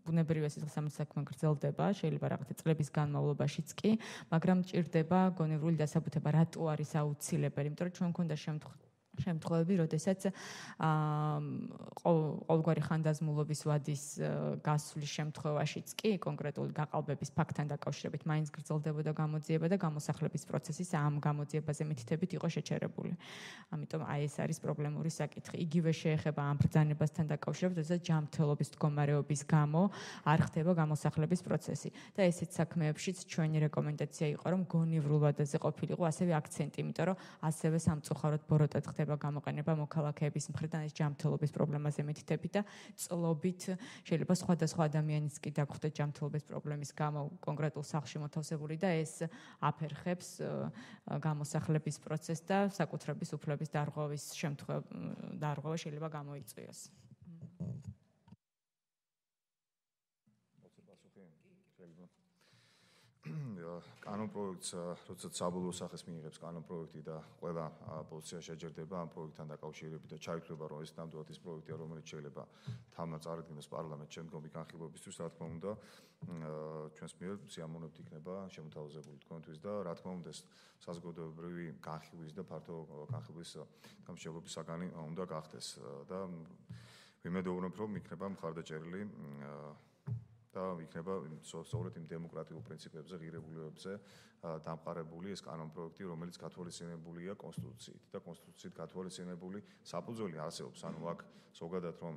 ბუნებრივია სისხლის სამართლის საქმე გრძელდება, შეიძლება რაღაცა წლების განმავლობაშიც კი, მაგრამ ჭირდება გონივრული დასაბუთება. რატო არის აუცილებელი? იმიტომ რომ ჩვენ გვქონდა შემთხვევები, როდესაც ყოველგვარი ხანდაზმულობის ვადის გასვლის შემთხვევაშიც კი კონკრეტული გაყალბების ფაქტთან დაკავშირებით მაინც გრძელდებოდა გამოძიება და გამოსახლების პროცესის ამ გამოძიებაზე მითითებით იყო შეჩერებული. ამიტომ აი ეს არის პრობლემური საკითხი. იგივე შეეხება ამ ბრძანებასთან დაკავშირებით, როდესაც ჯანმრთელობის მდგომარეობის გამო არ ხდება გამოსახლების პროცესი. და ესეთ საქმეებშიც ჩვენი რეკომენდაცია იყო, რომ გონივრულ ვადაზე ყოფილიყო ასევე აქცენტი, იმიტომ რომ ასევე სამწუხაროდ ბოროტად ხდება გამოყენება მოქალაქეების მხრიდან ეს ჯანმრთელობის პრობლემაზე მითითებით და წლობით შეიძლება სხვადასხვა ადამიანიც კი დაგხვდეთ ჯანმრთელობის პრობლემის გამო კონკრეტულ სახლში მოთავსებული და ეს აფერხებს გამოსახლების პროცესს და საკუთრების უფლების დარღვევა შეიძლება გამოიწვიოს. კანონ პროექტს, როდესაც საბოლოო სახეს მიიღებს კანონ პროექტი და ყველა პოზიცია შეჯერდება ამ პროექტთან დაკავშირებით და ჩაითვლება, რომ ეს ნამდვილად ის პროექტია, რომელიც შეიძლება თამნა წარადგინოს პარლამენტს შემდგომი განხილვებისთვის, რა თქმა უნდა, ჩვენს მიერ სიამოვნებთ იქნება შემოთავაზებული თქვენთვის და რა თქმა უნდა, ეს საზოგადოებრივი განხილვის და ფართო განხილვის დამსჯელობის საგანი უნდა გახდეს და ვიმედოვნებ, რომ იქნება მხარდაჭერილი და იქნება სწორედ იმ დემოკრატიულ პრინციპებზე, ღირებულებებზე დამყარებული ეს კანონ პროექტი, რომელიც გათვალისწინებულია კონსტიტუციით და კონსტიტუციით გათვალისწინებული საფუძველი არსებობს, ანუ აქ ზოგადად რომ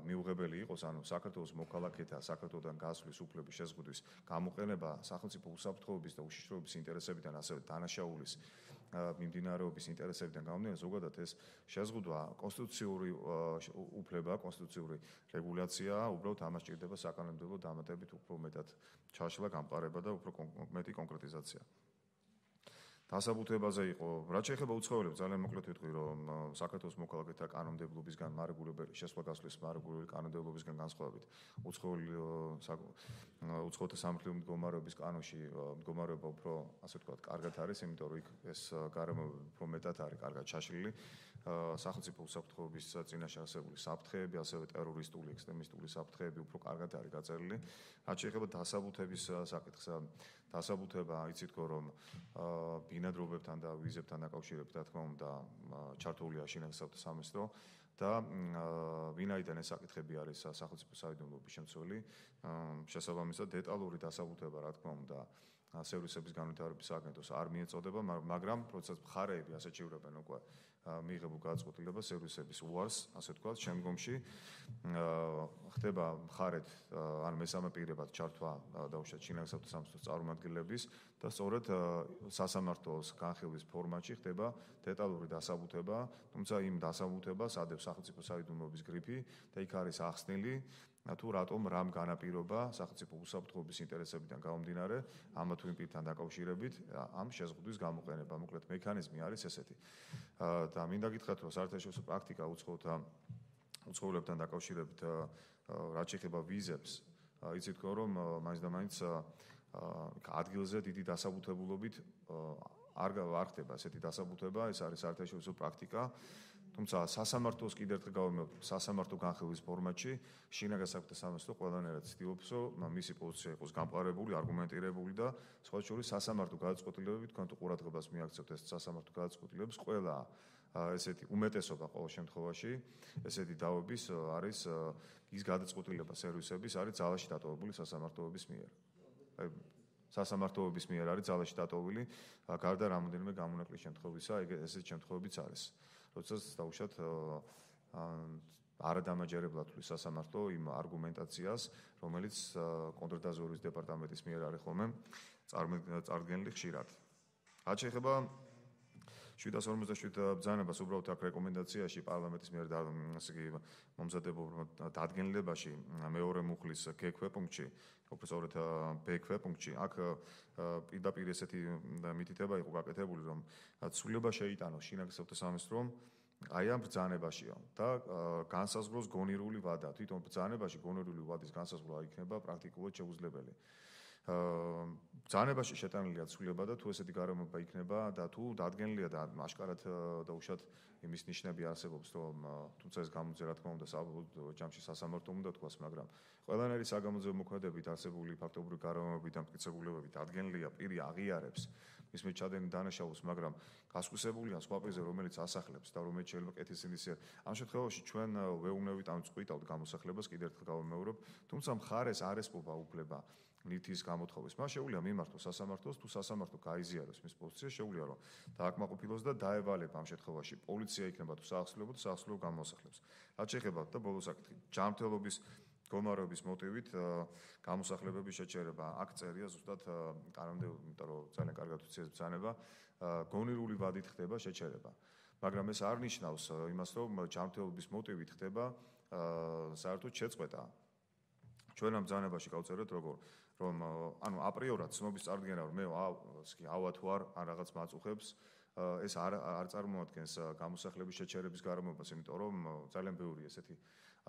მიუღებელი იყოს, ანუ საქართველოს მოქალაქეთა საქართველოსთან გასვლის უფლების შეზღუდვის გამოყენება სახელმწიფო უსაფრთხოების და უშიშროების ინტერესებიდან, ასევე დანაშაულის მიმდინარეობის ინტერესებიდან გამომდინარე, ზოგადად ეს შეზღუდვა კონსტიტუციური უფლება, კონსტიტუციური რეგულაციაა, უბრალოდ ამას ჭირდება საკანონმდებლო დამატებით უფრო მეტად ჩაშლა, გამყარება და უფრო მეტი კონკრეტიზაცია. დასაბუთებაზე იყო, რაც შეეხება უცხოელებს, ძალიან მოკლედ ვიტყვი, რომ საქართველოს მოქალაქეთა კანონმდებლობისგან მარეგულირებელი შესვლა-გასვლის მარეგულირებული კანონმდებლობისგან განსხვავებით, უცხოთა სამართლიანი მდგომარეობის კანონში მდგომარეობა უფრო, ასე ვთქვათ, კარგად არის, იმიტომ რომ იქ ეს გარემოება უფრო მეტად არის კარგად ჩაშლილი. სახელმწიფო უსაფრთხოების წინაშე არსებული საფრთხეები, ასევე ტერორისტული, ექსტრემისტული საფრთხეები უფრო კარგად არის გაწერილი. რაც შეეხება დასაბუთების საკითხს, დასაბუთება იცით, რომ ბინადრობებთან და ვიზებთან დაკავშირებით, რა თქმა უნდა, ჩართულია შინაგანსაკუთრებათა სამინისტრო და ვინაიდან ეს საკითხები არის სახელმწიფო საიდუმლოების შემცველი, შესაბამისად დეტალური დასაბუთება, რა თქმა უნდა, სერვისების განვითარების აგენტოს არ მიეწოდება, მაგრამ როდესაც მხარეები ასე ჩივრებენ უკვე მიიღებულ გადაწყვეტილებას სერვისების უარს, ასე ვთქვათ, შემდგომში ხდება მხარეთ ან მესამე პირებად ჩართვა დაუშვათ შინაგანსაკუთრებათა სამინისტროს წარმომადგენლების და სწორედ სასამართლოს განხილვის ფორმატში ხდება დეტალური დასაბუთება, თუმცა იმ დასაბუთებას ადევს სახელმწიფო საიდუმლოების გრიფი და იქ არის ახსნილი თუ რატომ რამ განაპირობა სახელმწიფო უსაფრთხოების ინტერესებიდან გამომდინარე ამა თუ იმ პირთან დაკავშირებით ამ შეზღუდვის გამოყენება. მოკლედ მექანიზმი არის ესეთი. და მინდა გითხრათ, რომ საერთაშორისო პრაქტიკა უცხოელებთან დაკავშირებით რაც შეეხება ვიზებს, იცით თქო, რომ მაინც და მაინც ადგილზე დიდი დასაბუთებულობით არ ხდება ესეთი დასაბუთება, ეს არის საერთაშორისო პრაქტიკა. თუმცა სასამართლოს კიდევ ერთხელ გავიმეორებ, სასამართლო განხილვის ფორმატში შინაგანსაკუთრებათა სამინისტრო ყველანაირად ცდილობს, რომ მისი პოზიცია იყოს გამყარებული, არგუმენტირებული და სხვა შორის სასამართლო გადაწყვეტილებები, თქვენ თუ ყურადღებას მიაქცევთ ეს სასამართლო გადაწყვეტილებებს, ყველა ესეთი უმეტესობა ყოველ შემთხვევაში, ესეთი დავების არის ის გადაწყვეტილება სერვისების არის ძალაში დატოვებული სასამართლოების მიერ. სასამართლოების მიერ არის ძალაში დატოვებული, გარდა რამოდენიმე გამონაკლისის შემთხვევისა, ესეთი შემთხვევებიც არის. როდესაც დაუშვათ არადამაჯერებლად თulis სასამართლო იმ არგუმენტაციას, რომელიც კონტრდაზვერვის დეპარტამენტის მიერ არის ხოლმე წარდგენილი ხშირად. რაც შეეხება 757 ბრძანებას, უბრალოდ აქ რეკომენდაციაში პარლამენტის მიერ მომზადებულ დადგენილებაში მეორე მუხლის გექვე პუნქტში, უბრალოდ ბ ქვეპუნქტში, აქ პირდაპირ ესეთი მითითება იყო გაკეთებული, რომ ცვლილება შეიტანოს შინაგანსაკუთრებათა სამინისტრომ აი ამ ბრძანებაშია და განსაზღვროს გონირული ვადა. თვითონ ბრძანებაში გონირული ვადის განსაზღვრა იქნება პრაქტიკულად შეუძლებელი. ბრძანებაში შეტანილია ცვლილება და თუ ესეთი გარემოება იქნება და თუ დადგენილია და აშკარად დაუშვათ იმის ნიშნები არსებობს, რომ თუმცა ეს გამოძე რა თქმა უნდა საბოლოო ჯამში სასამართლომ უნდა თქვას, მაგრამ ყველანაირი საგამოძიებო მოქმედებებით არსებული ფაქტობრივი გარემოებებით და მტკიცებულებებით დადგენილია პირი აღიარებს მის მეჩადენი დანაშაულს, მაგრამ გასხვისებულია სხვა პირზე, რომელიც ასახლებს და რომელიც შეიძლება კეთილსინდისიერ. ამ შემთხვევაში ჩვენ ვეუბნებით ან წყვიტავთ გამოსახლებას, კიდევ ერთხელ გავიმეორებ, თუმცა მხარეს არ ესპობა უფლება ნივთის გამოთხოვის. მას შეუძლია მიმართოს სასამართლოს, თუ სასამართლო გაიზიაროს მის პოზიციას, შეუძლია რომ დააკმაყოფილოს და დაევალება ამ შემთხვევაში პოლიცია იქნება თუ საახსლელებო და საახსლელებო გამოსახლებს. რაც შეეხება და ბოლოს საკითხი, ჯანმრთელობის გომარების მოტივით გამოსახლებების შეჩერება. აქ წერია ზუსტად კანონმდე, იმიტომ რომ ძალიან კარგად ვიცი ეს ბრძანება, გონირული ვადით ხდება შეჩერება. მაგრამ ეს არ ნიშნავს იმას, რომ ჯანმრთელობის მოტივით ხდება საერთოდ შეწყვეტა. ჩვენ ამ ბრძანებაში გავწერეთ რომ ანუ აპრიორად ცნობის წარდგენა რომ მე ავა თუ არ რაღაც მაწუხებს ეს არ წარმოადგენს გამოსახლების შეჩერების გარემოებას, იმიტომ რომ ძალიან ბევრი ესეთი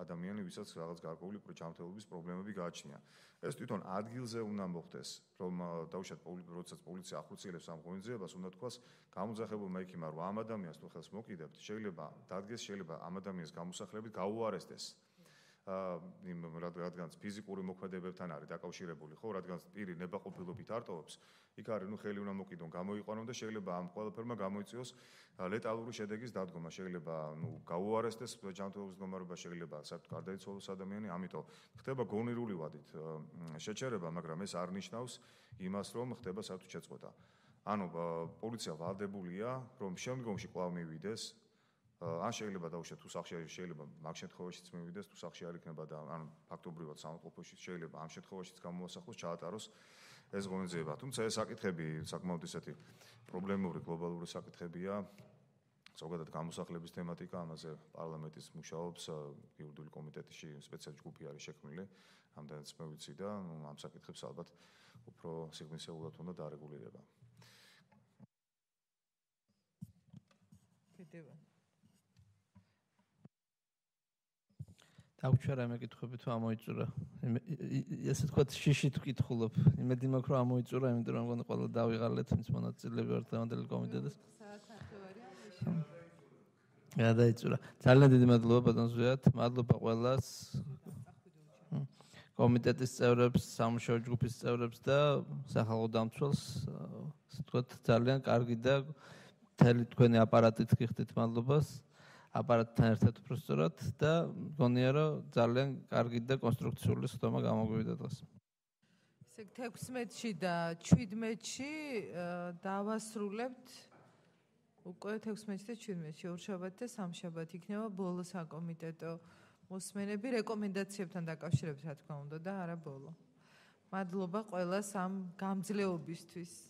ადამიანი, ვისაც რაღაც გარკვეული ჯანმრთელობის პრობლემები გააჩნია. ეს თვითონ ადგილზე უნდა მოხდეს, რომ დაუშვათ როდესაც პოლიცია ახორციელებს ამ ღონისძიებას, უნდა თქვას გამოძახებულმა ექიმმა, რომ ამ ადამიანს თუ ხელს მოკიდებთ, შეიძლება დადგეს, შეიძლება ამ ადამიანის გამოსახლებით გაუარესდეს. რადგანაც ფიზიკური მოქმედებებთან არის დაკავშირებული, ხო, რადგანაც პირი ნებაყოფილობით არტოვებს, იქ არის ხელი უნდა მოკიდონ, გამოიყვანონ და შეიძლება ამ ყველაფერმა გამოიწვიოს ლეტალური შედეგის დადგომა, შეიძლება გაუარესდეს ჯანმრთელობის მდგომარეობა, შეიძლება საერთოდ გარდაიცვალოს ადამიანი, ამიტომ ხდება გონირული ვადით შეჩერება, მაგრამ ეს არ ნიშნავს იმას, რომ ხდება საერთოდ შეწყვეტა. ანუ პოლიცია ვალდებულია, რომ შემდგომში კვლავ მივიდეს ან შეიძლება დაუშვათ თუ სახში არის, შეიძლება მაგ შემთხვევაშიც მივიდეს, თუ სახში არ იქნება და ან ფაქტობრივად სამყოფოში შეიძლება ამ შემთხვევაშიც გამოასახლოს, ჩაატაროს ეს ღონისძიება. თუმცა ეს საკითხები საკმაოდ ისეთი პრობლემური გლობალური საკითხებია. ზოგადად გამოსახლების თემატიკა, ამაზე პარლამენტის მუშაობს იურიდიული კომიტეტში სპეციალური ჯგუფი არის შექმნილი, ამდენიც მე ვიცი და ამ საკითხებს ალბათ უფრო სიღრმისეულად უნდა დარეგულირება. კიდევ დავჩერა მეკითხები თუ ამოიწურა. ესე თქვა შიში თუ კითხულობ. იმედი მაქვს რომ ამოიწურა, იმიტომ რომ მგონი ყველა დავიღალეთ, ვინც მონაწილეები ვართ დღევანდელი კომიტეტის. გადაიწურა. ძალიან დიდი მადლობა ბატონ ზვიად. მადლობა ყველას. კომიტეტის წევრებს, სამუშაო ჯგუფის წევრებს და სახალხო დამცველს, ასე ვთქვათ, ძალიან კარგი და მთელი თქვენი აპარატით გიხდით მადლობას. აპარატთან ერთად უბრალოდ და მგონია რომ ძალიან კარგი და კონსტრუქციული სხდომა გამოგვივიდა დღეს. ესე 16-ში და 17-ში დავასრულებთ უკვე 16-ში და 17-ში ორშაბათი და სამშაბათი იქნება ბოლო საკომიტეტო მოსმენები რეკომენდაციებთან დაკავშირებით რა თქმა უნდა და არა ბოლო. მადლობა ყველას ამ გამძლეობისთვის.